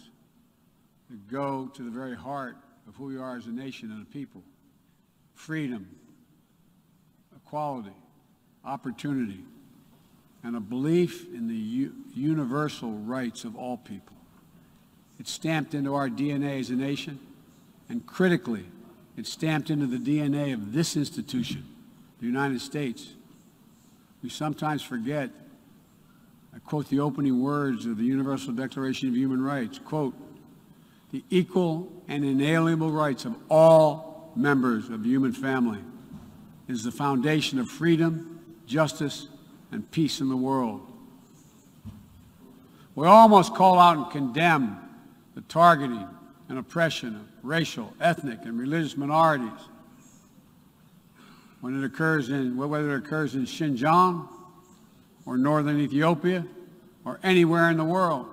that go to the very heart of who we are as a nation and a people: freedom, equality, opportunity, and a belief in the u- universal rights of all people. It's stamped into our D N A as a nation, and critically, it's stamped into the D N A of this institution, the United States. We sometimes forget. I quote the opening words of the Universal Declaration of Human Rights, quote, "The equal and inalienable rights of all members of the human family is the foundation of freedom, justice, and peace in the world." We all must call out and condemn the targeting and oppression of racial, ethnic, and religious minorities when it occurs in, whether it occurs in Xinjiang or northern Ethiopia or anywhere in the world.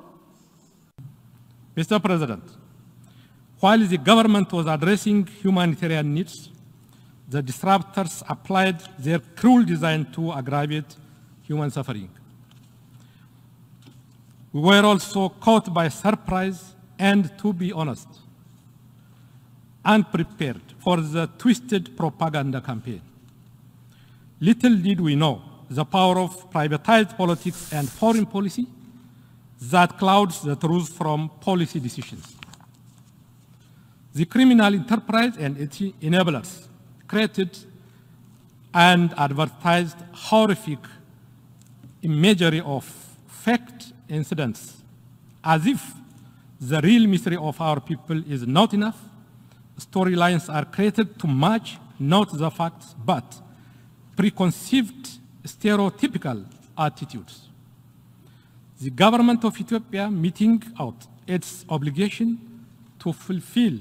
Mister President, while the government was addressing humanitarian needs, the disruptors applied their cruel design to aggravate human suffering. We were also caught by surprise and, to be honest, unprepared for the twisted propaganda campaign. Little did we know the power of privatized politics and foreign policy that clouds the truth from policy decisions. The criminal enterprise and its enablers created and advertised horrific imagery of faked incidents, as if the real mystery of our people is not enough. Storylines are created to match not the facts but preconceived stereotypical attitudes. The government of Ethiopia meting out its obligation to fulfill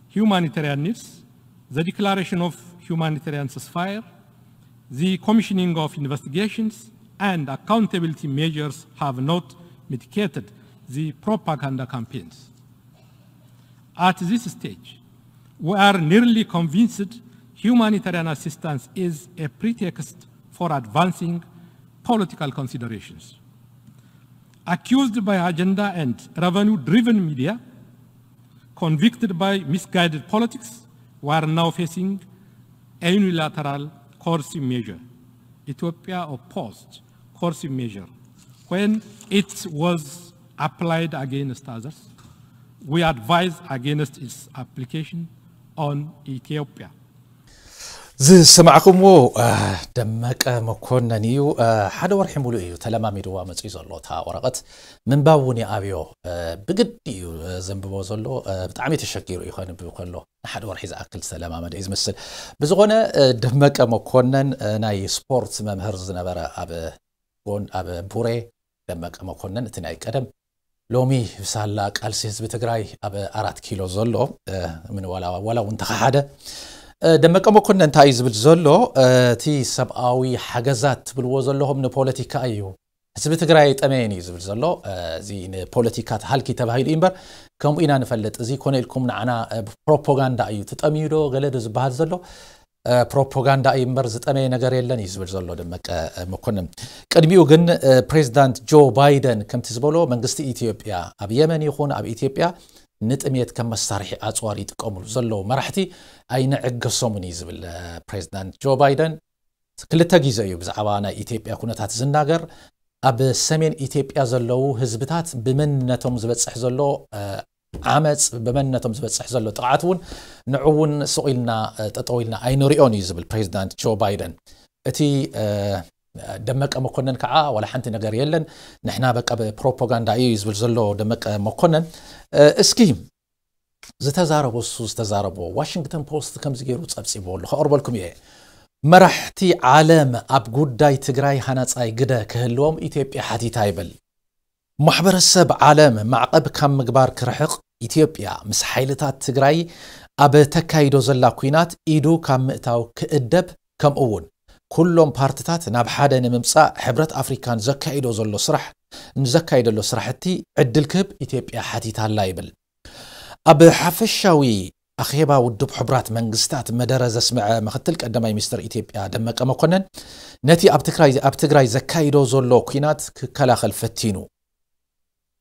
humanitarian needs, the declaration of humanitarian ceasefire, the commissioning of investigations, and accountability measures have not mitigated the propaganda campaigns. At this stage, we are nearly convinced humanitarian assistance is a pretext for advancing political considerations. Accused by agenda and revenue driven media, convicted by misguided politics, we are now facing a unilateral coercive measure. Ethiopia opposed coercive measure when it was applied against others. We advise against its application on Ethiopia. ዝሰማዕኩምዎ ደመቀ መኮነን እዩ። ሓደ ወርሒ ሙሉእ እዩ ተለማሚድዋ መፅኡ ዘሎ። እታ ወረቐት ምንባብ እውን ይኣብዮ። ብግዲ እዩ ዘንብቦ ዘሎ። ብጣዕሚ ተሸጊሩ እዩ ከንብብ ከሎ። ንሓደ ወርሒ ዝኣክል ዝተለማመደ እዩ ዝመስል። ብዝኾነ ደመቀ መኮነን ናይ ስፖርት መምህር ዝነበረ ኣብ ጎን ኣብ ቡሬ ደመቀ መኮነን እቲ ናይ ቀደም ሎሚ ብሳላ ቃልሲ ህዝቢ ትግራይ ኣብ ኣራት ኪሎ ዘሎ ምን ዋላ ዋላ እውን ተኸሓደ። ደመቀ መኮነን እንታይ እዩ ዝብል ዘሎ? እቲ ሰብኣዊ ሓገዛት ትብልዎ ዘለኹም ንፖለቲካ እዩ፣ ህዝቢ ትግራይ ጠመየን እዩ ዝብል ዘሎ። እዚ ንፖለቲካ ተሃልኪ ተባሂሉ እዩ እምበር ከምኡ ኢና ንፈልጥ። እዚ ኮነ ኢልኩም ንዓና ፕሮፓጋንዳ እዩ፣ ትጠምዩ ዶ ገለ ዶ ዝበሃል ዘሎ ፕሮፓጋንዳ እዩ እምበር ዝጠመየ ነገር የለን እዩ ዝብል ዘሎ ደመቀ መኮንን። ቅድሚኡ ግን ፕሬዚዳንት ጆ ባይደን ከምቲ ዝበሎ መንግስቲ ኢትዮጵያ ኣብ የመን ይኹን ኣብ ኢትዮጵያ ንጥሜት ከም መሳርሒ ኣፅዋር ይጥቀምሉ ዘለዉ መራሕቲ ኣይንዕገሶምን እዩ ዝብል ፕሬዚዳንት ጆ ባይደን። ክልተ ግዜ እዩ ብዛዕባ ናይ ኢትዮጵያ ኩነታት ዝናገር። ኣብ ሰሜን ኢትዮጵያ ዘለዉ ህዝብታት ብመንነቶም ዝበፅሕ ዘሎ ዓመፅ፣ ብመንነቶም ዝበፅሕ ዘሎ ጥቕዓት እውን ንዑ እውን ስቕ ኢልና ጠጠው ኢልና ኣይንሪኦን እዩ ዝብል ፕሬዚዳንት ጆ ባይደን። እቲ ደመቀ መኮነን ከዓ ዋላ ሓንቲ ነገር የለን፣ ንሕና በቃ ብፕሮፓጋንዳ እዩ ዝብል ዘሎ ደመቀ መኮነን። እስኪ ዝተዛረቦ እሱ ዝተዛረቦ ዋሽንግተን ፖስት ከምዚ ገይሩ ፀብፂቦ ኣሎ ከቕርበልኩም እየ። መራሕቲ ዓለም ኣብ ጉዳይ ትግራይ ሃናፃይ ግደ ክህልዎም ኢትዮጵያ ሓቲታ ይብል። ማሕበረሰብ ዓለም ማዕቐብ ካብ ምግባር ክርሕቕ፣ ኢትዮጵያ ምስ ሓይልታት ትግራይ ኣብ ተካይዶ ዘላ ኲናት ኢዱ ካብ ምእታው ክእደብ፣ ከምኡ እውን ኩሎም ፓርትታት ናብ ሓደ ንምምፃእ ሕብረት ኣፍሪካን ዘካይዶ ዘሎ ስራሕ ንዘካይደሎ ስራሕቲ ዕድል ክህብ ኢትዮጵያ ሓቲታላ ይብል። ኣብ ሓፈሻዊ ኣኼባ ውድብ ሕቡራት መንግስታት መደረ ዘስምዐ ምክትል ቀዳማይ ሚኒስትር ኢትዮጵያ ደመቀ መኮነን ነቲ ኣብ ትግራይ ኣብ ትግራይ ዘካይዶ ዘሎ ኲናት ክከላኸል ፈቲኑ።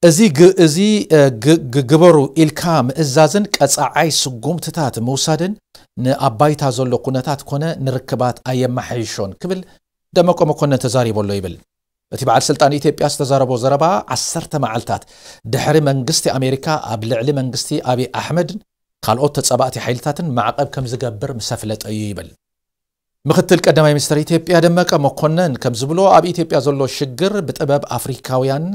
እዚ ግ- እዚ እ፣ ግ- ግ- ግበሩ ኢልካ ምእዛዝን ቀፃዓይ ስጉምትታት ምውሳድን ንኣባይታ ዘሎ ኩነታት ኮነ ንርክባት ኣየመሓይሾን ክብል ደመቀ መኮነን ተዛሪቦ ኣሎ ይብል። እቲ በዓል ስልጣን ኢትዮጵያ ዝተዛረቦ ዘረባ ዓሰርተ መዓልታት ድሕሪ መንግስቲ ኣሜሪካ ኣብ ልዕሊ መንግስቲ ኣብይ ኣሕመድን ካልኦት ተጻባእቲ ሓይልታትን ማዕቐብ ከም ዝገብር ምስ ኣፍለጠ እዩ ይብል። ምክትል ቀዳማይ ሚኒስትር ኢትዮጵያ ደመቀ መኮነን ከም ዝብሎ ኣብ ኢትዮጵያ ዘሎ ሽግር ብጥበብ ኣፍሪካውያን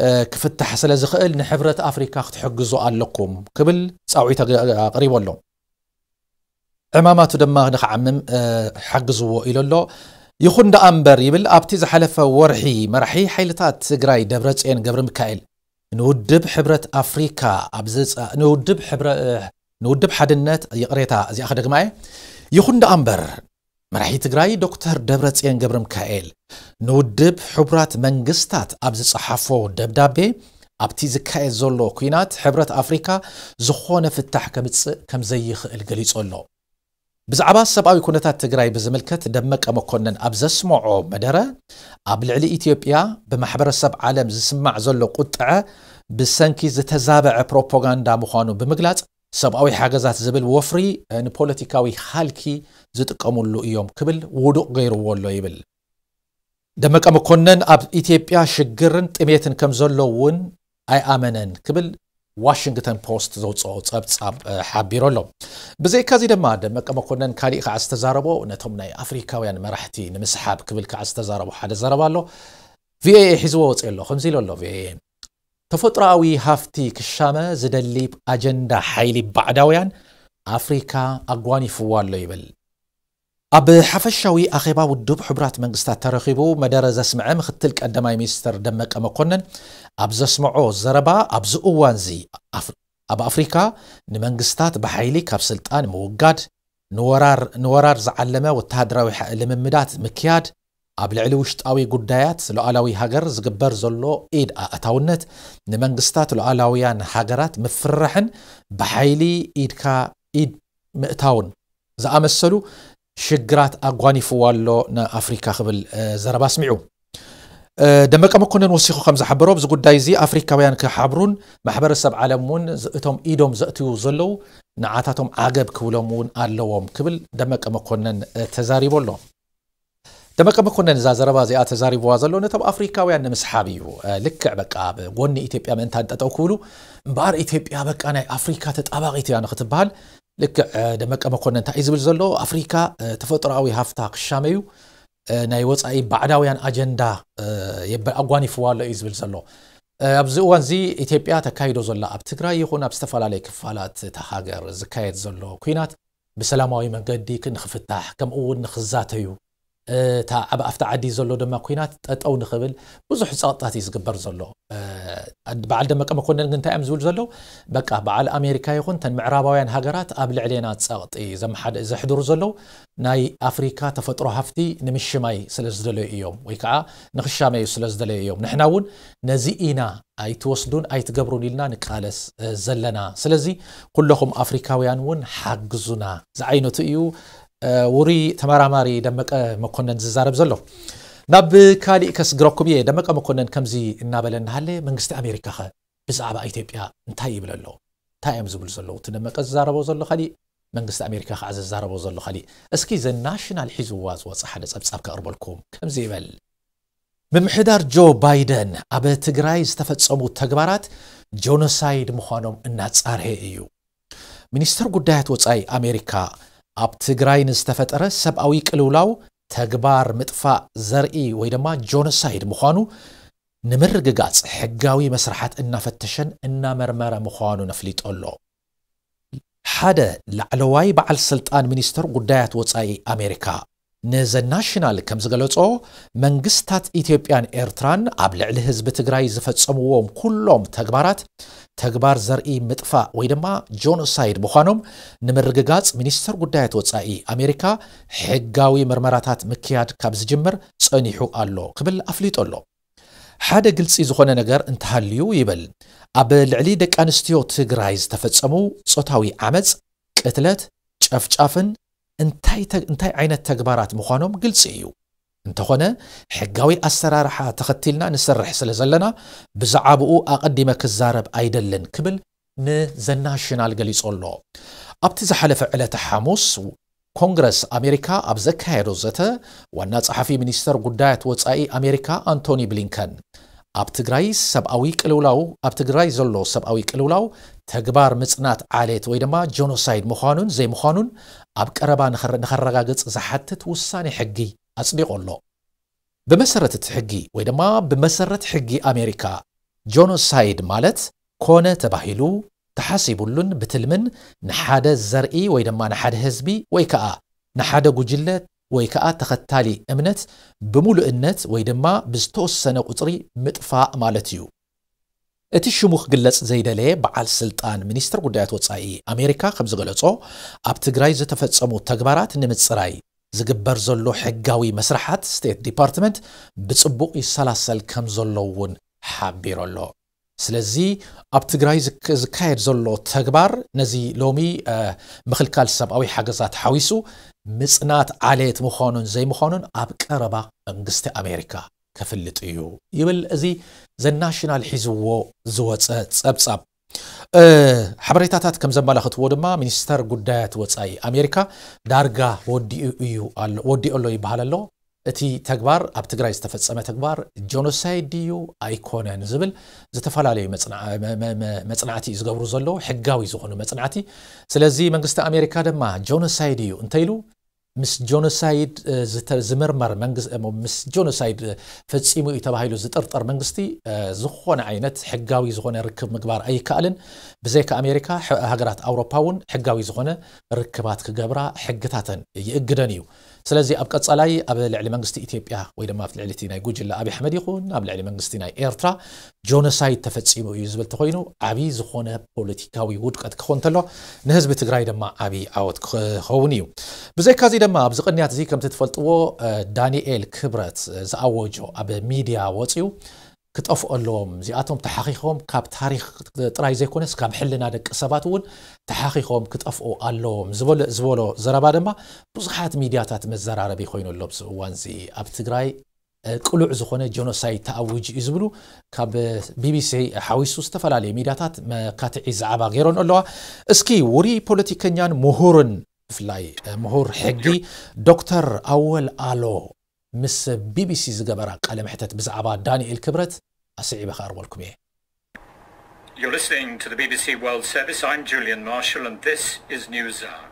እ፣ ክፍታሕ ስለ ዝኽእል ንሕብረት ኣፍሪካ ክትሕግዙ ኣለኩም ክብል ፃውዒት ኣግ- ኣቕሪቡ ኣሎ። ዕማማቱ ድማ ንክዓምም እ፣ ሓግዝዎ ኢሉ ኣሎ። ይኹን ደኣ እምበር ይብል ኣብቲ ዝሓለፈ ወርሒ መራሒ ሓይልታት ትግራይ ደብረፅዮን ገብረ ሚካኤል ንውድብ ሕብረት ኣፍሪካ ኣብ ዝፃ- ንውድብ ሕብረ- ንውድብ ሓድነት ይቕሬታ እዚኣ ክደግማ እየ። ይኹን ደኣ እምበር መራሒ ትግራይ ዶክተር ደብረፅዮን ገብረ ሚካኤል ንውድብ ሕቡራት መንግስታት ኣብ ዝፀሓፎ ደብዳቤ ኣብቲ ዝካየድ ዘሎ ኲናት ሕብረት ኣፍሪካ ዝኾነ ፍታሕ ከምፅእ ከም ዘይኽእል ገሊፁ ኣሎ። ብዛዕባ ሰብኣዊ ኩነታት ትግራይ ብዝምልከት ደመቀ መኮነን ኣብ ዘስምዖ መደረ ኣብ ልዕሊ ኢትዮጵያ ብማሕበረሰብ ዓለም ዝስማዕ ዘሎ ቁጥዐ ብሰንኪ ዝተዛበዐ ፕሮፓጋንዳ ምዃኑ ብምግላፅ ሰብኣዊ ሓገዛት ዝብል ወፍሪ ንፖለቲካዊ ሃልኪ ዝጥቀሙሉ እዮም ክብል ውዱቕ ገይርዎ ኣሎ ይብል። ደመቀ መኮነን ኣብ ኢትዮጵያ ሽግርን ጥሜትን ከም ዘሎ እውን ኣይኣመነን ክብል ዋሽንግተን ፖስት ዘውፅኦ ፀብፃብ ሓቢሩ ኣሎ። ብዘይካዚ ድማ ደመቀ መኮነን ካሊእ ከዓ ዝተዛረቦ ነቶም ናይ ኣፍሪካውያን መራሕቲ ንምስሓብ ክብል ከዓ ዝተዛረቦ ሓደ ዘረባ ኣሎ። ቪኦኤ ሒዝዎ ወፂኡ ኣሎ ከምዚ ኢሉ ኣሎ ቪኦኤ። ተፈጥሮኣዊ ሃፍቲ ክሻመ ዝደሊ ኣጀንዳ ሓይሊ ባዕዳውያን ኣፍሪካ ኣጓኒፍዋ ኣሎ ይብል። ኣብ ሓፈሻዊ ኣኼባ ውድብ ሕቡራት መንግስታት ተረኺቡ መደረ ዘስምዐ ምክትል ቀዳማይ ሚኒስትር ደመቀ መኮነን ኣብ ዘስምዖ ዘረባ ኣብዚ እዋንዚ ኣፍ- ኣብ ኣፍሪካ ንመንግስታት ብሓይሊ ካብ ስልጣን ምውጋድ፣ ንወራር ንወራር ዝዓለመ ወተሃደራዊ ሓ- ልምምዳት ምክያድ፣ ኣብ ልዕሊ ውሽጣዊ ጉዳያት ሉዓላዊ ሃገር ዝግበር ዘሎ ኢድ ኣእታውነት፣ ንመንግስታት ሉዓላውያን ሃገራት ምፍርራሕን ብሓይሊ ኢድካ ኢድ ምእታውን ዝኣመሰሉ ሽግራት ኣጓኒፍዋ ኣሎ ንኣፍሪካ ክብል ዘረባ ኣስሚዑ። ደመቀ መኮነን ወሲኹ ከም ዝሓበሮ ኣብዚ ጉዳይ እዚ ኣፍሪካውያን ክሓብሩን ማሕበረሰብ ዓለም እውን እቶም ኢዶም ዘእትዉ ዘለዉ ንዓታቶም ዓገብ ክብሎም እውን ኣለዎም ክብል ደመቀ መኮነን ተዛሪቡ ኣሎ። ደመቀ መኮነን እዛ ዘረባ እዚኣ ተዛሪብዋ ዘሎ ነቶም ኣፍሪካውያን ንምስሓብ እዩ። ልክዕ በቃ ኣብ ጎኒ ኢትዮጵያ ምእንታን ጠጠው ክብሉ እምበኣር ኢትዮጵያ በቃ ናይ ኣፍሪካ ተጣባቒት እያ ንክትበሃል። ልክዕ ደመቀ መኮነን እንታይ እዩ ዝብል ዘሎ? ኣፍሪካ ተፈጥሮኣዊ ሃፍታ ክሻመዩ ናይ ወፃኢ ባዕዳውያን ኣጀንዳ ኣጓኒፍዋ ኣሎ እዩ ዝብል ዘሎ። ኣብዚ እዋን እዚ ኢትዮጵያ ተካይዶ ዘላ ኣብ ትግራይ ይኹን ኣብ ዝተፈላለዩ ክፋላት እታ ሃገር ዝካየድ ዘሎ ኩናት ብሰላማዊ መንገዲ ንክፍታሕ ከምኡ እውን ንክዛተዩ እታ ኣብ ኣፍታ ዓዲ ዘሎ ድማ ኩናት ጠጠው ንክብል ብዙሕ ፀቕጥታት እዩ ዝግበር ዘሎ። በዓል ደመቀ መኮነን ግን እንታይ እዮም ዝብል ዘለዉ? በቃ በዓል ኣሜሪካ ይኹን ተን ምዕራባውያን ሃገራት ኣብ ልዕሌና ፀቕጢ ዘሕድሩ ዘለዉ ናይ ኣፍሪካ ተፈጥሮ ሃፍቲ ንምሽማይ ስለ ዝደለዩ እዮም ወይ ከዓ ንክሻመዩ ስለ ዝደለዩ እዮም። ንሕና እውን ነዚ ኢና ኣይትወስዱን ኣይትገብሩን ኢልና ንቃለስ ዘለና። ስለዚ ኩለኹም ኣፍሪካውያን እውን ሓግዙና ዝዓይነቱ እዩ። ውሩይ ተመራማሪ ደመቀ መኮነን ዝዛረብ ዘሎ። ናብ ካሊእ ከስግረኩም እየ። ደመቀ መኮነን ከምዚ እናበለ እናሃለ መንግስቲ ኣሜሪካ ኸ ብዛዕባ ኢትዮጵያ እንታይ ይብል ኣሎ? እንታይ እዮም ዝብሉ ዘለዉ? እቲ ደመቀ ዝዛረቦ ዘሎ ካሊእ፣ መንግስቲ ኣሜሪካ ከዓ ዝዛረቦ ዘሎ ካሊእ። እስኪ ዘ ናሽናል ሒዝዋ ዝወፀ ሓደ ፀብፃብ ከቕርበልኩም ከምዚ ይበል። ምምሕዳር ጆ ባይደን ኣብ ትግራይ ዝተፈጸሙ ተግባራት ጆኖሳይድ ምዃኖም እናጻርሀ እዩ። ሚኒስተር ጉዳያት ወጻኢ ኣሜሪካ ኣብ ትግራይ ንዝተፈጠረ ሰብኣዊ ቅልውላው ተግባር ምጥፋእ ዘርኢ ወይ ድማ ጆኖሳይድ ምዃኑ ንምርግጋጽ ሕጋዊ መስርሓት እናፈተሸን እናመርመረ ምዃኑ ነፍሊጡ ኣሎ። ሓደ ላዕለዋይ በዓል ስልጣን ሚኒስተር ጉዳያት ወጻኢ ኣሜሪካ ንዘ ናሽናል ከም ዝገለጾ፣ መንግስታት ኢትዮጵያን ኤርትራን ኣብ ልዕሊ ህዝቢ ትግራይ ዝፈጸምዎም ኩሎም ተግባራት ተግባር ዘርኢ ምጥፋእ ወይ ድማ ጆኖሳይድ ምዃኖም ንምርግጋጽ ሚኒስተር ጉዳያት ወጻኢ ኣሜሪካ ሕጋዊ ምርመራታት ምክያድ ካብ ዝጅምር ጸኒሑ ኣሎ ክብል ኣፍሊጡ ኣሎ። ሓደ ግልጺ ዝኾነ ነገር እንተሃልዩ ይብል፣ ኣብ ልዕሊ ደቂ ኣንስትዮ ትግራይ ዝተፈጸሙ ጾታዊ ዓመጽ፣ ቅትለት፣ ጨፍጫፍን እንታይ ተ- እንታይ ዓይነት ተግባራት ምዃኖም ግልጺ እዩ። እንተኾነ ሕጋዊ ኣሰራርሓ ተኸቲልና ንሰርሕ ስለ ዘለና ብዛዕባኡ ኣቐዲመ ክዛረብ ኣይደልን ክብል ንዘ ናሽናል ገሊጹ ኣሎ። ኣብቲ ዝሓለፈ ዕለተ ሓሙስ ኮንግረስ ኣሜሪካ ኣብ ዘካየዶ ዘተ ዋና ጸሓፊ ሚኒስተር ጉዳያት ወጻኢ ኣሜሪካ ኣንቶኒ ብሊንከን ኣብ ትግራይ ሰብኣዊ ቅልውላው ኣብ ትግራይ ዘሎ ሰብኣዊ ቅልውላው ተግባር ምጽናት ዓሌት ወይ ድማ ጆኖሳይድ ምዃኑን ዘይምዃኑን ኣብ ቀረባ ንኸረ- ንኸረጋግጽ ዝሓትት ውሳኔ ሕጊ ኣጽዲቑ ኣሎ። ብመሰረት እቲ ሕጊ ወይ ድማ ብመሰረት ሕጊ ኣሜሪካ ጆኖሳይድ ማለት ኮነ ተባሂሉ ተሓሲቡሉን ብትልምን ንሓደ ዘርኢ ወይ ድማ ንሓደ ህዝቢ ወይ ከዓ ንሓደ ጉጅለ ወይ ከዓ ተኸታሊ እምነት ብምሉእነት ወይ ድማ ብዝተወሰነ ቁፅሪ ምጥፋእ ማለት እዩ። እቲ ሽሙ ክግለጽ ዘይደለየ በዓል ስልጣን ሚኒስትር ጉዳያት ወጻኢ ኣሜሪካ ከም ዝገለጾ ኣብ ትግራይ ዝተፈጸሙ ተግባራት ንምጽራይ ዝግበር ዘሎ ሕጋዊ መስርሓት ስቴት ዲፓርትመንት ብጽቡቕ ይሰላሰል ከም ዘሎ እውን ሓቢሩ ኣሎ። ስለዚ ኣብ ትግራይ ዝክ- ዝካየድ ዘሎ ተግባር ነዚ ሎሚ እ፣ ምኽልካል ሰብኣዊ ሓገዛት ሓዊሱ ምጽናት ዓሌት ምዃኑን ዘይምዃኑን ኣብ ቀረባ መንግስቲ ኣሜሪካ ከፍልጥ እዩ ይብል እዚ ዘ ናሽናል ሒዝዎ ዝወፀ ፀብፃብ። እ፣ ሓበሬታታት ከም ዘመላኽትዎ ድማ ሚኒስተር ጉዳያት ወፃኢ ኣሜሪካ ዳርጋ ወዲኡ እዩ ኣሎ ወዲኡ ኣሎ ይበሃል ኣሎ። እቲ ተግባር ኣብ ትግራይ ዝተፈጸመ ተግባር ጆኖሳይድ ድዩ ኣይኮነን ዝብል ዝተፈላለዩ መጽና- መ- መ- መ- መጽናዕቲ እዩ ዝገብሩ ዘለዉ ሕጋዊ ዝኾኑ መጽናዕቲ። ስለዚ መንግስቲ ኣሜሪካ ድማ ጆኖሳይድ እዩ እንተኢሉ ምስ ጆኖሳይድ እ፣ ዝተ- ዝምርመር መንግስ- እሞ ምስ ጆኖሳይድ ፈጺሙ እዩ ተባሂሉ ዝጥርጠር መንግስቲ እ፣ ዝኾነ ዓይነት ሕጋዊ ዝኾነ ርክብ ምግባር ኣይከኣልን። ብዘይካ ኣሜሪካ ሕ- ሃገራት ኣውሮፓ እውን ሕጋዊ ዝኾነ ርክባት ክገብራ ሕግታተን ይእግደን እዩ። ስለዚ ኣብ ቀጻላይ ኣብ ልዕሊ መንግስቲ ኢትዮጵያ ወይ ድማ ኣብ ልዕሊ እቲ ናይ ጉጅለ ኣብይ ኣሕመድ ይኹን ኣብ ልዕሊ መንግስቲ ናይ ኤርትራ ጆኖሳይድ ተፈጺሙ እዩ ዝብል ተኮይኑ ዓብዪ ዝኾነ ፖለቲካዊ ውድቀት ክኸውን እንተሎ ንህዝቢ ትግራይ ድማ ዓብዪ ዓወት ክኸውን እዩ። ብዘይካዚ ድማ ኣብዚ ቅንያት እዚ ከምቲ ትፈልጥዎ እ፣ ዳንኤል ክብረት ዝኣወጆ ኣብ ሚድያ ወፂኡ ክጠፍኡ ኣለዎም። እዚኣቶም ተሓኺኾም ካብ ታሪኽ ጥራይ ዘይኮነስ ካብ ሕልና ደቂ ሰባት እውን ተሓኺኾም ክጠፍኡ ኣለዎም ዝበሎ ዝበሎ ዘረባ ድማ ብዙሓት ሚድያታት መዘራረቢ ኮይኑ ኣሎ። ኣብዚ እዋን እዚ ኣብ ትግራይ እ፣ ቅሉዕ ዝኾነ ጀኖሳይድ ተኣዊጁ እዩ ዝብሉ ካብ ቢቢሲ ሓዊሱ ዝተፈላለዩ ሚድያታት መካትዒ ዛዕባ ገይሮን ኣለዋ። እስኪ ውሩይ ፖለቲከኛን ምሁርን ብፍላይ እ፣ ምሁር ሕጊ ዶክተር ኣወል ኣሎ ምስ ቢቢሲ ዝገበራ ቃለ መሕተት ብዛዕባ ዳንኤል ክብረት ኣስዒበ ከቕርበልኩም እየ። You're listening to the B B C World Service. I'm Julian Marshall, and this is News Hour.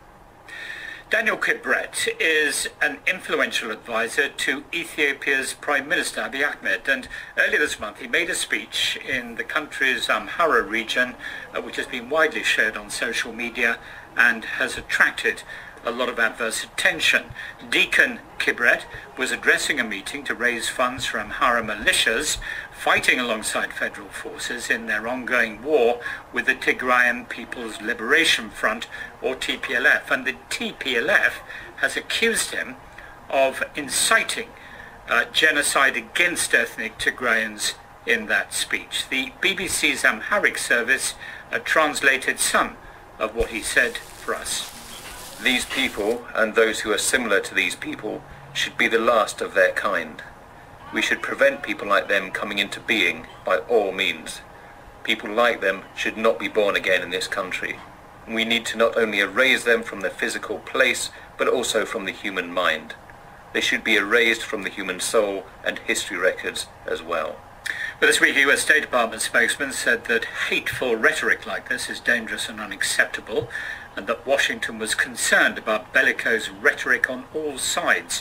Daniel Kibret is an influential advisor to Ethiopia's Prime Minister Abiy Ahmed, and earlier this month he made a speech in the country's Amhara region, uh, which has been widely shared on social media and has attracted a lot of adverse attention. Deacon Kibret was addressing a meeting to raise funds for Amhara militias fighting alongside federal forces in their ongoing war with the Tigrayan People's Liberation Front, or T P L F, and the T P L F has accused him of inciting uh, genocide against ethnic Tigrayans in that speech. The B B C's Amharic service uh, translated some of what he said for us. These people and those who are similar to these people should be the last of their kind. We should prevent people like them coming into being by all means. People like them should not be born again in this country. We need to not only erase them from the physical place, but also from the human mind. They should be erased from the human soul and history records as well. But this week, a U S State Department spokesman said that hateful rhetoric like this is dangerous and unacceptable, and that Washington was concerned about bellicose rhetoric on all sides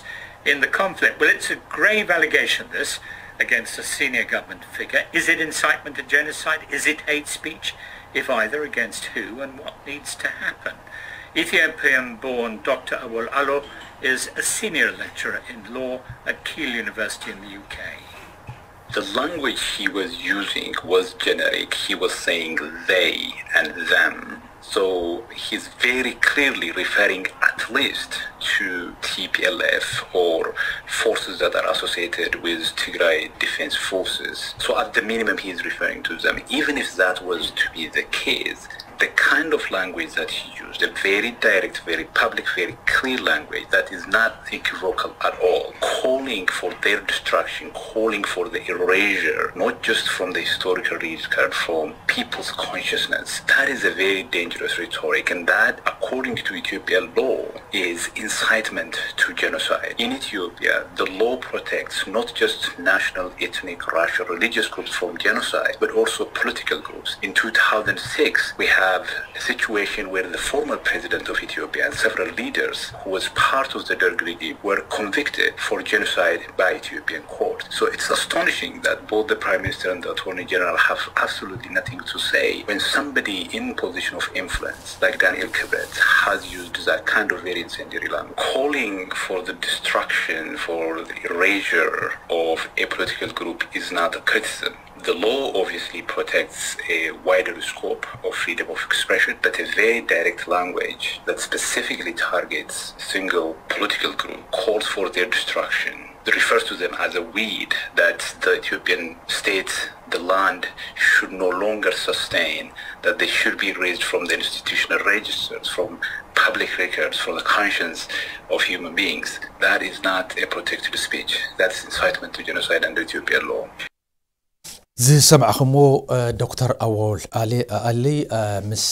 in the conflict. Well, it's a grave allegation, this, against a senior government figure. Is it incitement to genocide? Is it hate speech? If either, against who, and what needs to happen? Ethiopian born Doctor Awol Alo is a senior lecturer in law at Keele University in the U K. The language he was using was generic. He was saying they and them. So he's very clearly referring at least to T P L F or forces that are associated with Tigray Defense Forces. So at the minimum, he is referring to them. Even if that was to be the case, the kind of language that he used, a very direct, very public, very clear language that is not equivocal at all, calling for their destruction, calling for the erasure, not just from the historical register, from people's consciousness. That is a very dangerous rhetoric, and that, according to Ethiopian law, is incitement to genocide. In Ethiopia, the law protects not just national, ethnic, racial, religious groups from genocide, but also political groups. In two thousand six, we have a situation where the former president of Ethiopia and several leaders who was part of the Derg regime were convicted for genocide by Ethiopian court. So it's astonishing that both the Prime Minister and the Attorney General have absolutely nothing to say when somebody in position of influence like Daniel Kibret has used that kind of very incendiary language. Calling for the destruction, for the erasure of a political group is not a criticism. The law obviously protects a wider scope of freedom of expression, but a very direct language that specifically targets single political group, calls for their destruction, refers to them as a weed, that the Ethiopian state, the land, should no longer sustain, that they should be erased from the institutional registers, from public records, from the conscience of human beings. That is not a protected speech. That's incitement to genocide under Ethiopian law. ዝሰማዕኹምዎ ዶክተር ኣወል ኣሊ ምስ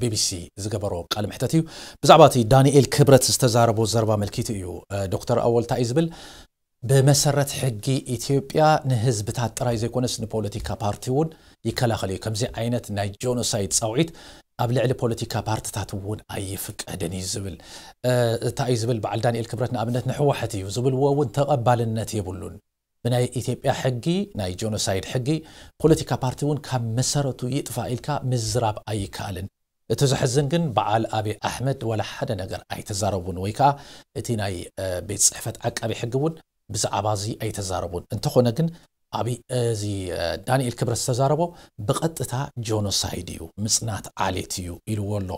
ቢቢሲ ዝገበሮ ቃለ መሕተት እዩ። ብዛዕባ እቲ ዳንኤል ክብረት ዝተዛረቦ ዘረባ ኣመልኪቱ እዩ። ዶክተር ኣወል እንታይ እዩ ዝብል? ብመሰረት ሕጊ ኢትዮጵያ ንህዝብታት ጥራይ ዘይኮነስ ንፖለቲካ ፓርቲ እውን ይከላኸል እዩ። ከምዚ ዓይነት ናይ ጆኖሳይድ ፃውዒት ኣብ ልዕሊ ፖለቲካ ፓርትታት እውን ኣይፍቀድን እዩ ዝብል። እንታይ እዩ ዝብል? በዓል ዳንኤል ክብረት ንኣብነት ንህወሓት እዩ ዝብልዎ እውን ተቐባልነት የብሉን። ብናይ ኢትዮጵያ ሕጊ፣ ናይ ጆኖሳይድ ሕጊ፣ ፖለቲካ ፓርቲ እውን ካብ መሰረቱ ይጥፋእ ኢልካ ምዝራብ ኣይከኣልን። እቲ ዘሕዝን ግን በዓል ኣብይ ኣሕመድ ዋላ ሓደ ነገር ኣይተዛረቡን፣ ወይ ከዓ እቲ ናይ ቤት ፅሕፈት ዓቃቢ ሕጊ እውን ብዛዕባ እዚ ኣይተዛረቡን። እንተኾነ ግን ኣብይ፣ እዚ ዳንኤል ክብረት ዝተዛረቦ ብቐጥታ ጆኖሳይድ እዩ፣ ምፅናት ዓሌት እዩ ኢልዎ ኣሎ።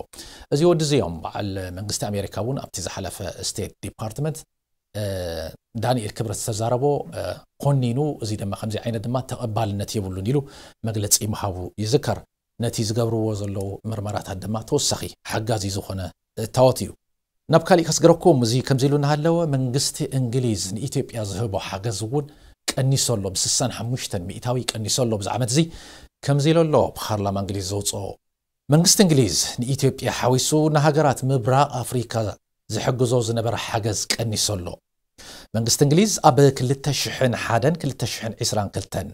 እዚ ወዲ እዚ እዮም በዓል መንግስቲ ኣሜሪካ እውን ኣብቲ ዝሓለፈ ስቴት ዲፓርትመንት ዳንኤል ክብረት ዝተዛረቦ ኮኒኑ፣ እዚ ድማ ከምዚ ዓይነት ድማ ተቐባልነት የብሉን ኢሉ መግለፂ ምሃቡ ይዝከር። ነቲ ዝገብርዎ ዘለዉ ምርመራታት ድማ ተወሳኺ ሓጋዚ ዝኾነ እታወት እዩ። ናብ ካሊእ ከስግረኩም፣ እዚ ከምዚ ኢሉ እናሃለወ መንግስቲ እንግሊዝ ንኢትዮጵያ ዝህቦ ሓገዝ እውን ቀኒሶ ኣሎ፣ ብ65% ቀኒሶ ኣሎ። ብዛዕባ እዚ ከምዚ ኢሉ ኣሎ ፓርላማ እንግሊዝ ዘውፅኦ። መንግስቲ እንግሊዝ ንኢትዮጵያ ሓዊሱ ንሃገራት ምብራቕ ኣፍሪካ ዝሕግዞ ዝነበረ ሓገዝ ቀኒሶ ኣሎ። መንግስቲ እንግሊዝ ኣብ ክልተ ሽሕን ሓደን ክልተ ሽሕን ዕስራን ክልተን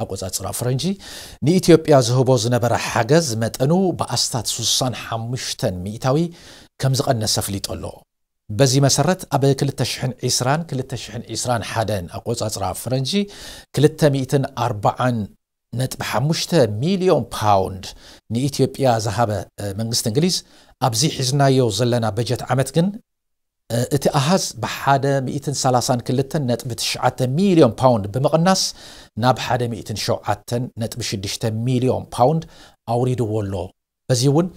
ኣቆጻጽራ ፈረንጂ ንኢትዮጵያ ዝህቦ ዝነበረ ሓገዝ መጠኑ ብኣስታት ስሳን ሓሙሽተን ሚእታዊ ከም ዝቐነሰ ኣፍሊጡ ኣሎ። በዚ መሰረት ኣብ ክልተ ሽሕን ዕስራን ክልተ ሽሕን ዕስራን ሓደን ኣቆጻጽራ ፈረንጂ ክልተ ሚእትን ኣርባዓን ነጥቢ ሓሙሽተ ሚልዮን ፓውንድ ንኢትዮጵያ ዝሃበ መንግስቲ እንግሊዝ ኣብዚ ሒዝናዮ ዘለና በጀት ዓመት ግን እቲ ኣሃዝ ብሓደ ሚእትን ሰላሳን ክልተን ነጥቢ ትሽዓተ ሚልዮን ፓውንድ ብምቕናስ ናብ ሓደ ሚእትን ሸውዓተን ነጥቢ ሽዱሽተ ሚልዮን ፓውንድ ኣውሪድዎ ኣሎ። በዚ እውን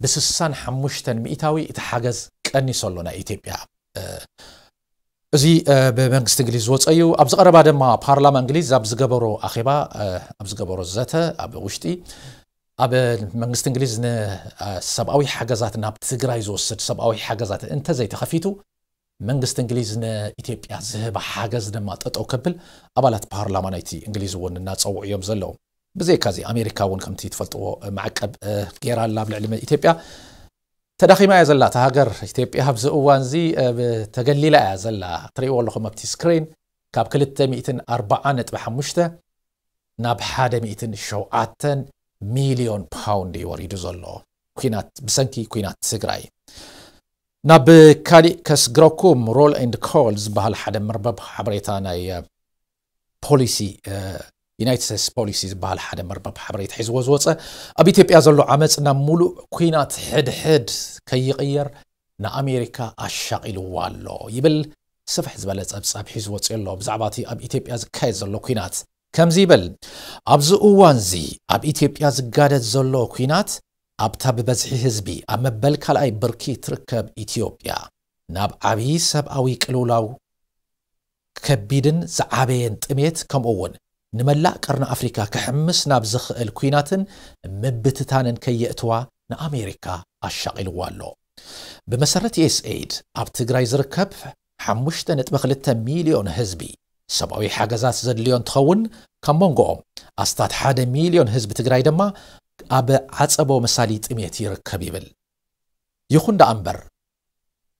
ብስሳን ሓሙሽተን ሚእታዊ እቲ ሓገዝ ቀኒሶ ኣሎ ናይ ኢትዮጵያ። እዚ ብመንግስቲ እንግሊዝ ዝወፀ እዩ። ኣብዚ ቀረባ ድማ ፓርላማ እንግሊዝ ኣብ ዝገበሮ ኣኼባ ኣብ ዝገበሮ ዘተ ኣብ ውሽጢ ኣብ መንግስቲ እንግሊዝ ንሰብኣዊ ሓገዛት ናብ ትግራይ ዝወስድ ሰብኣዊ ሓገዛት እንተዘይተኸፊቱ መንግስቲ እንግሊዝ ንኢትዮጵያ ዝህባ ሓገዝ ድማ ጠጠው ከብል ኣባላት ፓርላማ ናይቲ እንግሊዝ እውን እናፀውዑ እዮም ዘለዉ። ብዘይካዚ ኣሜሪካ እውን ከምቲ ትፈልጥዎ ማዕቀብ ገይራ ኣላ ኣብ ልዕሊ ኢትዮጵያ። ተዳኺማ እያ ዘላ እታ ሃገር። ኢትዮጵያ ኣብዚ እዋን እዚ ተገሊላ እያ ዘላ። ትርእይዎ ኣለኹም ኣብቲ ስክሪን ካብ ክልተ ሚእትን ኣርባዓ ነጥቢ ሓሙሽተ ናብ ሓደ ሚእትን ሸውዓተን ሚልዮን ፓውንድ እዩ ወሪዱ ዘሎ ኩናት ብሰንኪ ኩናት ትግራይ። ናብ ካሊእ ከስግረኩም ሮል ኤንድ ኮል ዝበሃል ሓደ መርበብ ሓበሬታ ናይ ፖሊሲ ዩናይትድ ስቴትስ ፖሊሲ ዝበሃል ሓደ መርበብ ሓበሬታ ሒዝዎ ዝወፀ ኣብ ኢትዮጵያ ዘሎ ዓመፅ ናብ ሙሉእ ኩናት ሕድሕድ ከይቕየር ንኣሜሪካ ኣሻቒልዋ ኣሎ ይብል። ስፍሕ ዝበለ ፀብፃብ ሒዙ ወፂኡ ኣሎ ብዛዕባ እቲ ኣብ ኢትዮጵያ ዝካየድ ዘሎ ኩናት ከምዚ ይብል። ኣብዚ እዋንዚ ኣብ ኢትዮጵያ ዝጋደድ ዘሎ ኩናት ኣብታ ብበዝሒ ህዝቢ ኣብ መበል ካልኣይ ብርኪ ትርከብ ኢትዮጵያ ናብ ዓብዪ ሰብኣዊ ቅልውላው ከቢድን ዝዓበየን ጥሜት ከምኡ እውን ንመላእ ቀርኒ ኣፍሪካ ክሕምስ ናብ ዝኽእል ኩናትን ምብትታንን ከየእትዋ ንኣሜሪካ ኣሻቒልዋ ኣሎ። ብመሰረት ዩኤስኤይድ ኣብ ትግራይ ዝርከብ ሓሙሽተ ነጥቢ ክልተ ሚልዮን ህዝቢ ሰብኣዊ ሓገዛት ዘድልዮ እንትኸውን ካብ መንጎኦም ኣስታት ሓደ ሚልዮን ህዝቢ ትግራይ ድማ ኣብ ዓፀቦ መሳሊ ጥሜት ይርከብ ይብል። ይኹን ደኣ እምበር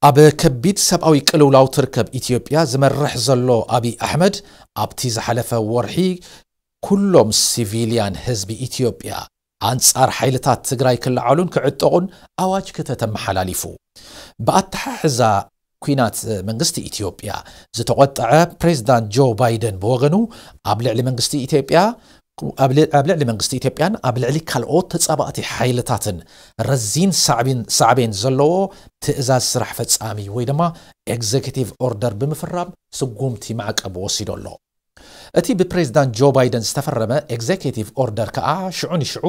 ኣብ ከቢድ ሰብኣዊ ቅልውላው ትርከብ ኢትዮጵያ ዝመርሕ ዘሎ ኣብይ ኣሕመድ ኣብቲ ዝሓለፈ ወርሒ ኩሎም ሲቪልያን ህዝቢ ኢትዮጵያ ኣንጻር ሓይልታት ትግራይ ክለዓሉን ክዕጠቑን ኣዋጅ ክተተመሓላሊፉ። ብኣተሓሕዛ ኩናት መንግስቲ ኢትዮጵያ ዝተቖጠዐ ፕሬዝዳንት ጆ ባይደን ብወገኑ ኣብ ልዕሊ መንግስቲ ኢትዮጵያ ኣብ ልዕሊ መንግስቲ ኢትዮጵያን ኣብ ልዕሊ ካልኦት ተጻባእቲ ሓይልታትን ረዚን ሳዕቤን ዘለዎ ትእዛዝ ስራሕ ፈጻሚ ወይ ድማ ኤግዜኪቲቭ ኦርደር ብምፍራም ስጉምቲ ማዕቀብ ወሲዱ ኣሎ። እቲ ብፕሬዝዳንት ጆ ባይደን ዝተፈረመ ኤግዜኪቲቭ ኦርደር ከኣ ሽዑ ንሽዑ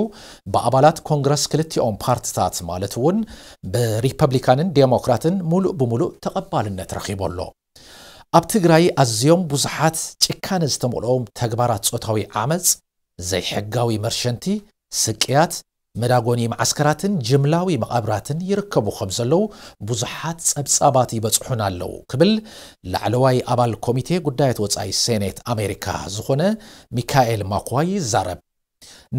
ብኣባላት ኮንግረስ ክልቲኦም ፓርትታት ማለት እውን ብሪፐብሊካንን ዴሞክራትን ሙሉእ ብሙሉእ ተቐባልነት ረኺቡ ኣሎ። ኣብ ትግራይ ኣዝዮም ብዙሓት ጭካነ ዝተመልኦም ተግባራት ጾታዊ ዓመፅ፣ ዘይሕጋዊ መርሸንቲ፣ ስቅያት፣ መዳጎኒ መዓስከራትን ጅምላዊ መቓብራትን ይርከቡ ከም ዘለዉ ብዙሓት ጸብጻባት ይበጽሑና ኣለዉ ክብል ላዕለዋይ ኣባል ኮሚቴ ጉዳያት ወጻኢ ሴኔት ኣሜሪካ ዝኾነ ሚካኤል ማኳይ ይዛረብ።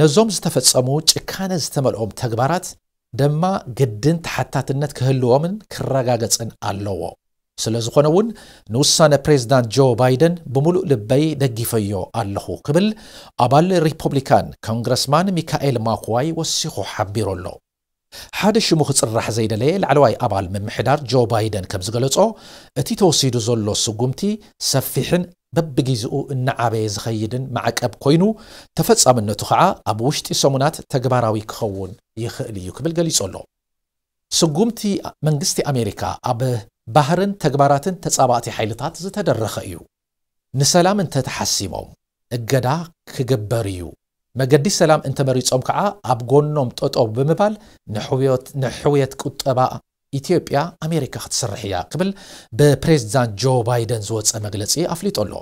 ነዞም ዝተፈጸሙ ጭካነ ዝተመልኦም ተግባራት ደማ ግድን ተሓታትነት ክህልዎምን ክረጋገጽን ኣለዎ። ስለ ዝኾነ እውን ንውሳነ ፕሬዝዳንት ጆ ባይደን ብምሉእ ልበይ ደጊፈዮ ኣለኹ ክብል ኣባል ሪፖብሊካን ኮንግረስማን ሚካኤል ማክዋይ ወሲኹ ሓቢሩ ኣሎ። ሓደ ሽሙ ክፅራሕ ዘይደለየ ላዕለዋይ ኣባል ምምሕዳር ጆ ባይደን ከም ዝገለጾ እቲ ተወሲዱ ዘሎ ስጉምቲ ሰፊሕን በብጊዜኡ እናዓበየ ዝኸይድን ማዕቀብ ኮይኑ ተፈጻምነቱ ከዓ ኣብ ውሽጢ ሰሙናት ተግባራዊ ክኸውን ይኽእል እዩ ክብል ገሊጹ ኣሎ። ስጉምቲ መንግስቲ ኣሜሪካ ኣብ ባህርን ተግባራትን ተጻባእቲ ሓይልታት ዝተደረኸ እዩ። ንሰላም እንተተሓሲሞም እገዳ ክግበር እዩ። መገዲ ሰላም እንተመሪጾም ከዓ ኣብ ጎኖም ጠጠው ብምባል ንሕውየት ቁጠባ ኢትዮጵያ ኣሜሪካ ክትሰርሕ እያ ክብል ብፕሬዝዳንት ጆ ባይደን ዝወፀ መግለፂ ኣፍሊጡ ኣሎ።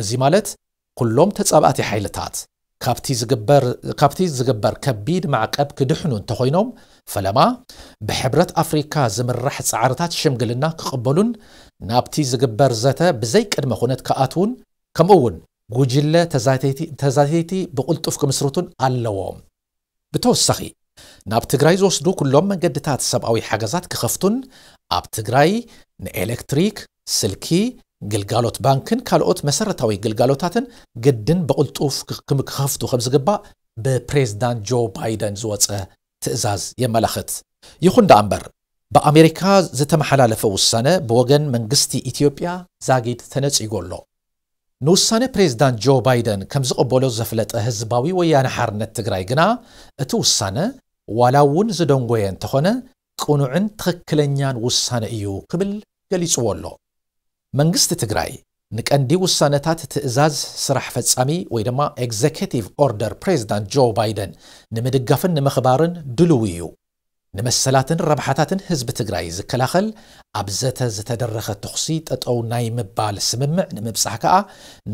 እዚ ማለት ኩሎም ተጻባእቲ ሓይልታት ካብቲ ዝግበር ከቢድ ማዕቀብ ክድሕኑ እንተኾይኖም ፈለማ ብሕብረት ኣፍሪካ ዝምራሕ ፃዕርታት ሽምግልና ክቕበሉን ናብቲ ዝግበር ዘተ ብዘይ ቅድመ ኩነት ክኣትዉን ከምኡ እውን ጉጅለ ተዛተይቲ ብቕልጡፍ ክምስርቱን ኣለዎም። ብተወሳኺ ናብ ትግራይ ዝወስዱ ኩሎም መንገድታት ሰብኣዊ ሓገዛት ክኸፍቱን ኣብ ትግራይ ንኤሌክትሪክ፣ ስልኪ፣ ግልጋሎት ባንክን ካልኦት መሰረታዊ ግልጋሎታትን ግድን ብቕልጡፍ ክኽፍቱ ከም ዝግባእ ብፕሬዝዳንት ጆ ባይደን ዝወፀ ትእዛዝ የመላኽት። ይኹን ደኣ እምበር፣ ብኣሜሪካ ዝተመሓላለፈ ውሳነ ብወገን መንግስቲ ኢትዮጵያ ዛጊድ ተነጺጎ ኣሎ። ንውሳነ ፕሬዝዳንት ጆ ባይደን ከም ዝቐበሎ ዘፍለጠ ህዝባዊ ወያነ ሓርነት ትግራይ ግና፣ እቲ ውሳነ ዋላ እውን ዝደንጎየ እንተኾነ፣ ቅኑዕን ትኽክለኛን ውሳነ እዩ ክብል ገሊጽዎ ኣሎ። መንግስቲ ትግራይ ንቀንዲ ውሳነታት ትእዛዝ ስራሕ ፈጻሚ ወይ ድማ ኤግዘኪቲቭ ኦርደር ፕሬዝዳንት ጆ ባይደን ንምድጋፍን ንምኽባርን ድልው እዩ። ንመሰላትን ረብሓታትን ህዝቢ ትግራይ ዝከላኸል፣ ኣብ ዘተ ዝተደረኸ ተኹሲ ጠጠው ናይ ምባል ስምምዕ ንምብጻሕ ከኣ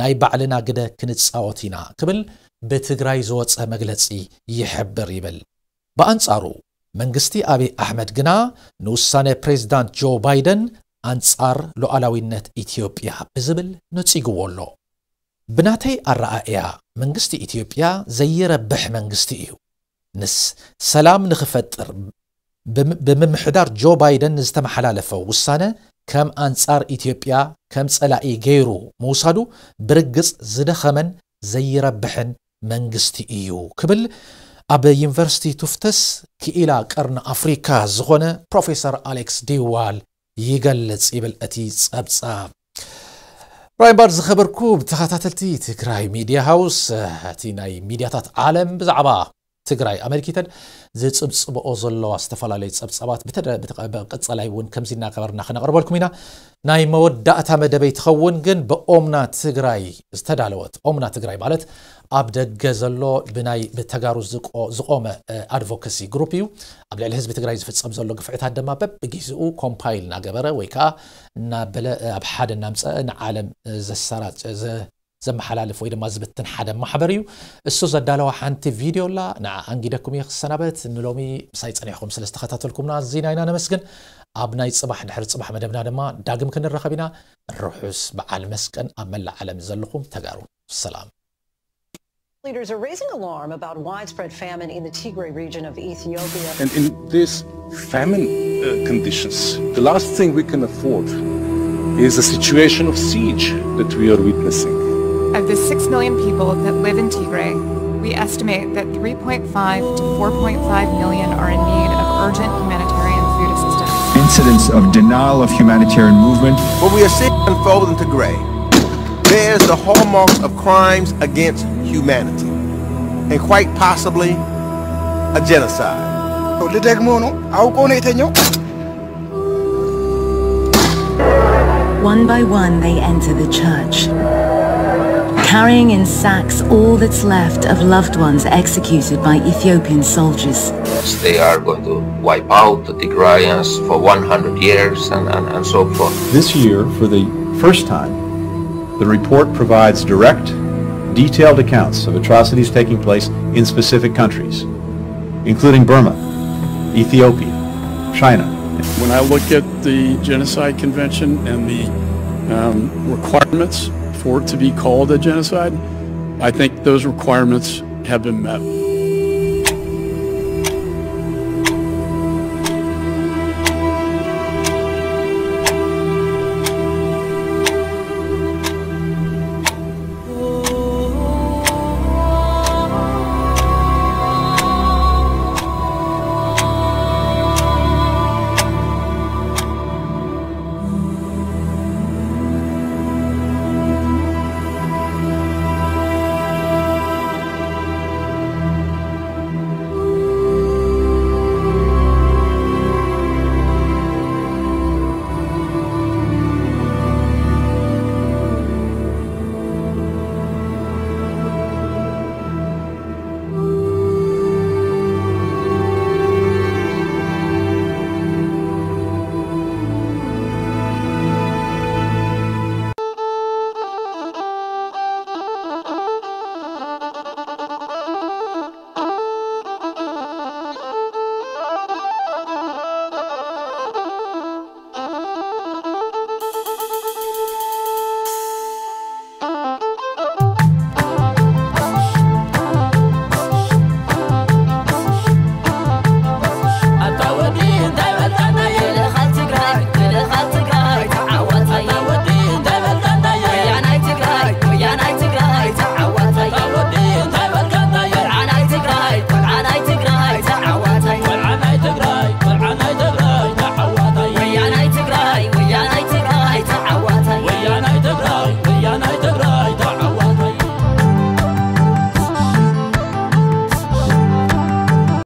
ናይ ባዕልና ግደ ክንጻወት ኢና ክብል ብትግራይ ዝወጸ መግለጺ ይሕብር ይብል። ብኣንጻሩ መንግስቲ ኣብይ ኣሕመድ ግና ንውሳነ ፕሬዝዳንት ጆ ባይደን ኣንጻር ሉዓላዊነት ኢትዮጵያ ብዝብል ነጺግዎ ኣሎ። ብናተይ ኣረኣእያ መንግስቲ ኢትዮጵያ ዘይረብሕ መንግስቲ እዩ። ንስ ሰላም ንኽፈጥር ብምምሕዳር ጆ ባይደን ዝተመሓላለፈ ውሳነ ከም ኣንጻር ኢትዮጵያ ከም ጸላኢ ገይሩ ምውሳዱ ብርግጽ ዝደኸመን ዘይረብሕን መንግስቲ እዩ ክብል ኣብ ዩኒቨርሲቲ ቱፍተስ ክኢላ ቀርኒ ኣፍሪካ ዝኾነ ፕሮፌሰር ኣሌክስ ዲዋል ይገልጽ ይብል እቲ ጸብጻብ። ብራይም ባር ዝኸበርኩ ተኸታተልቲ ትግራይ ሚድያ ሃውስ፣ እቲ ናይ ሚድያታት ዓለም ብዛዕባ ትግራይ ኣመልኪተን ዝጽብጽብኦ ዘለዋ ዝተፈላለዩ ጸብጻባት ብተደ-፣ ብተቐ-፣ ብቀጻላይ እውን ከምዚ እናገበርና ክነቕርበልኩም ኢና። ናይ መወዳእታ መደበይ ትኸውን ግን ብኦምና ትግራይ ዝተዳለወት፣ ኦምና ትግራይ ማለት ኣብ ደገ ዘሎ ብናይ ብተጋሩ ዝቆ-፣ ዝቆመ፣ እ፣ ኣድቮካሲ ግሩፕ እዩ። ኣብ ልዕሊ ህዝቢ ትግራይ ዝፍጸም ዘሎ ግፍዕታት ድማ በብግዜኡ ኮምፓይል እናገበረ ወይ ከዓ እናበለ፣ እ፣ ኣብ ሓደ እናምፀአ ንዓለም፣ እ፣ ዘሰራጨ፣ ዘ-፣ ዘመሓላልፍ ወይ ድማ ዝብትን ሓደ ማሕበር እዩ። እሱ ዘዳለዋ ሓንቲ ቪድዮ ኣላ፣ ንዓ ኣንጊደኩም እየ ክሰናበት። ንሎሚ ምሳይ ጸኒሕኩም ስለ ዝተኸታተልኩምና ኣዚና ኢና ነመስግን። ኣብ ናይ ጽባሕ ድሕሪ ጽባሕ መደብና ድማ ዳግም ክንራኸብ ኢና። ርሑስ በዓል መስቀን ኣብ መላእ ዓለም ዘለኹም ተጋሩ። ሰላም። Leaders are raising alarm about widespread famine in the Tigray region of Ethiopia. And in these famine, uh, conditions, the last thing we can afford is a situation of siege that we are witnessing. Of the six million people that live in Tigray, we estimate that three point five to four point five million are in need of urgent humanitarian food assistance. Incidents of denial of humanitarian movement. What we are seeing unfold in Tigray bears the hallmarks of crimes against humanity and quite possibly a genocide. ልደግሞ ነው፣ አውቆ ነው የተኛው። One by one, they enter the church, carrying in sacks all that's left of loved ones executed by Ethiopian soldiers. They are going to wipe out the Tigrayans for one hundred years and, and, and so forth. This year, for the first time, the report provides direct, detailed accounts of atrocities taking place in specific countries, including Burma, Ethiopia, China. When I look at the Genocide Convention and the, um, requirements for it to be called a genocide, I think those requirements have been met.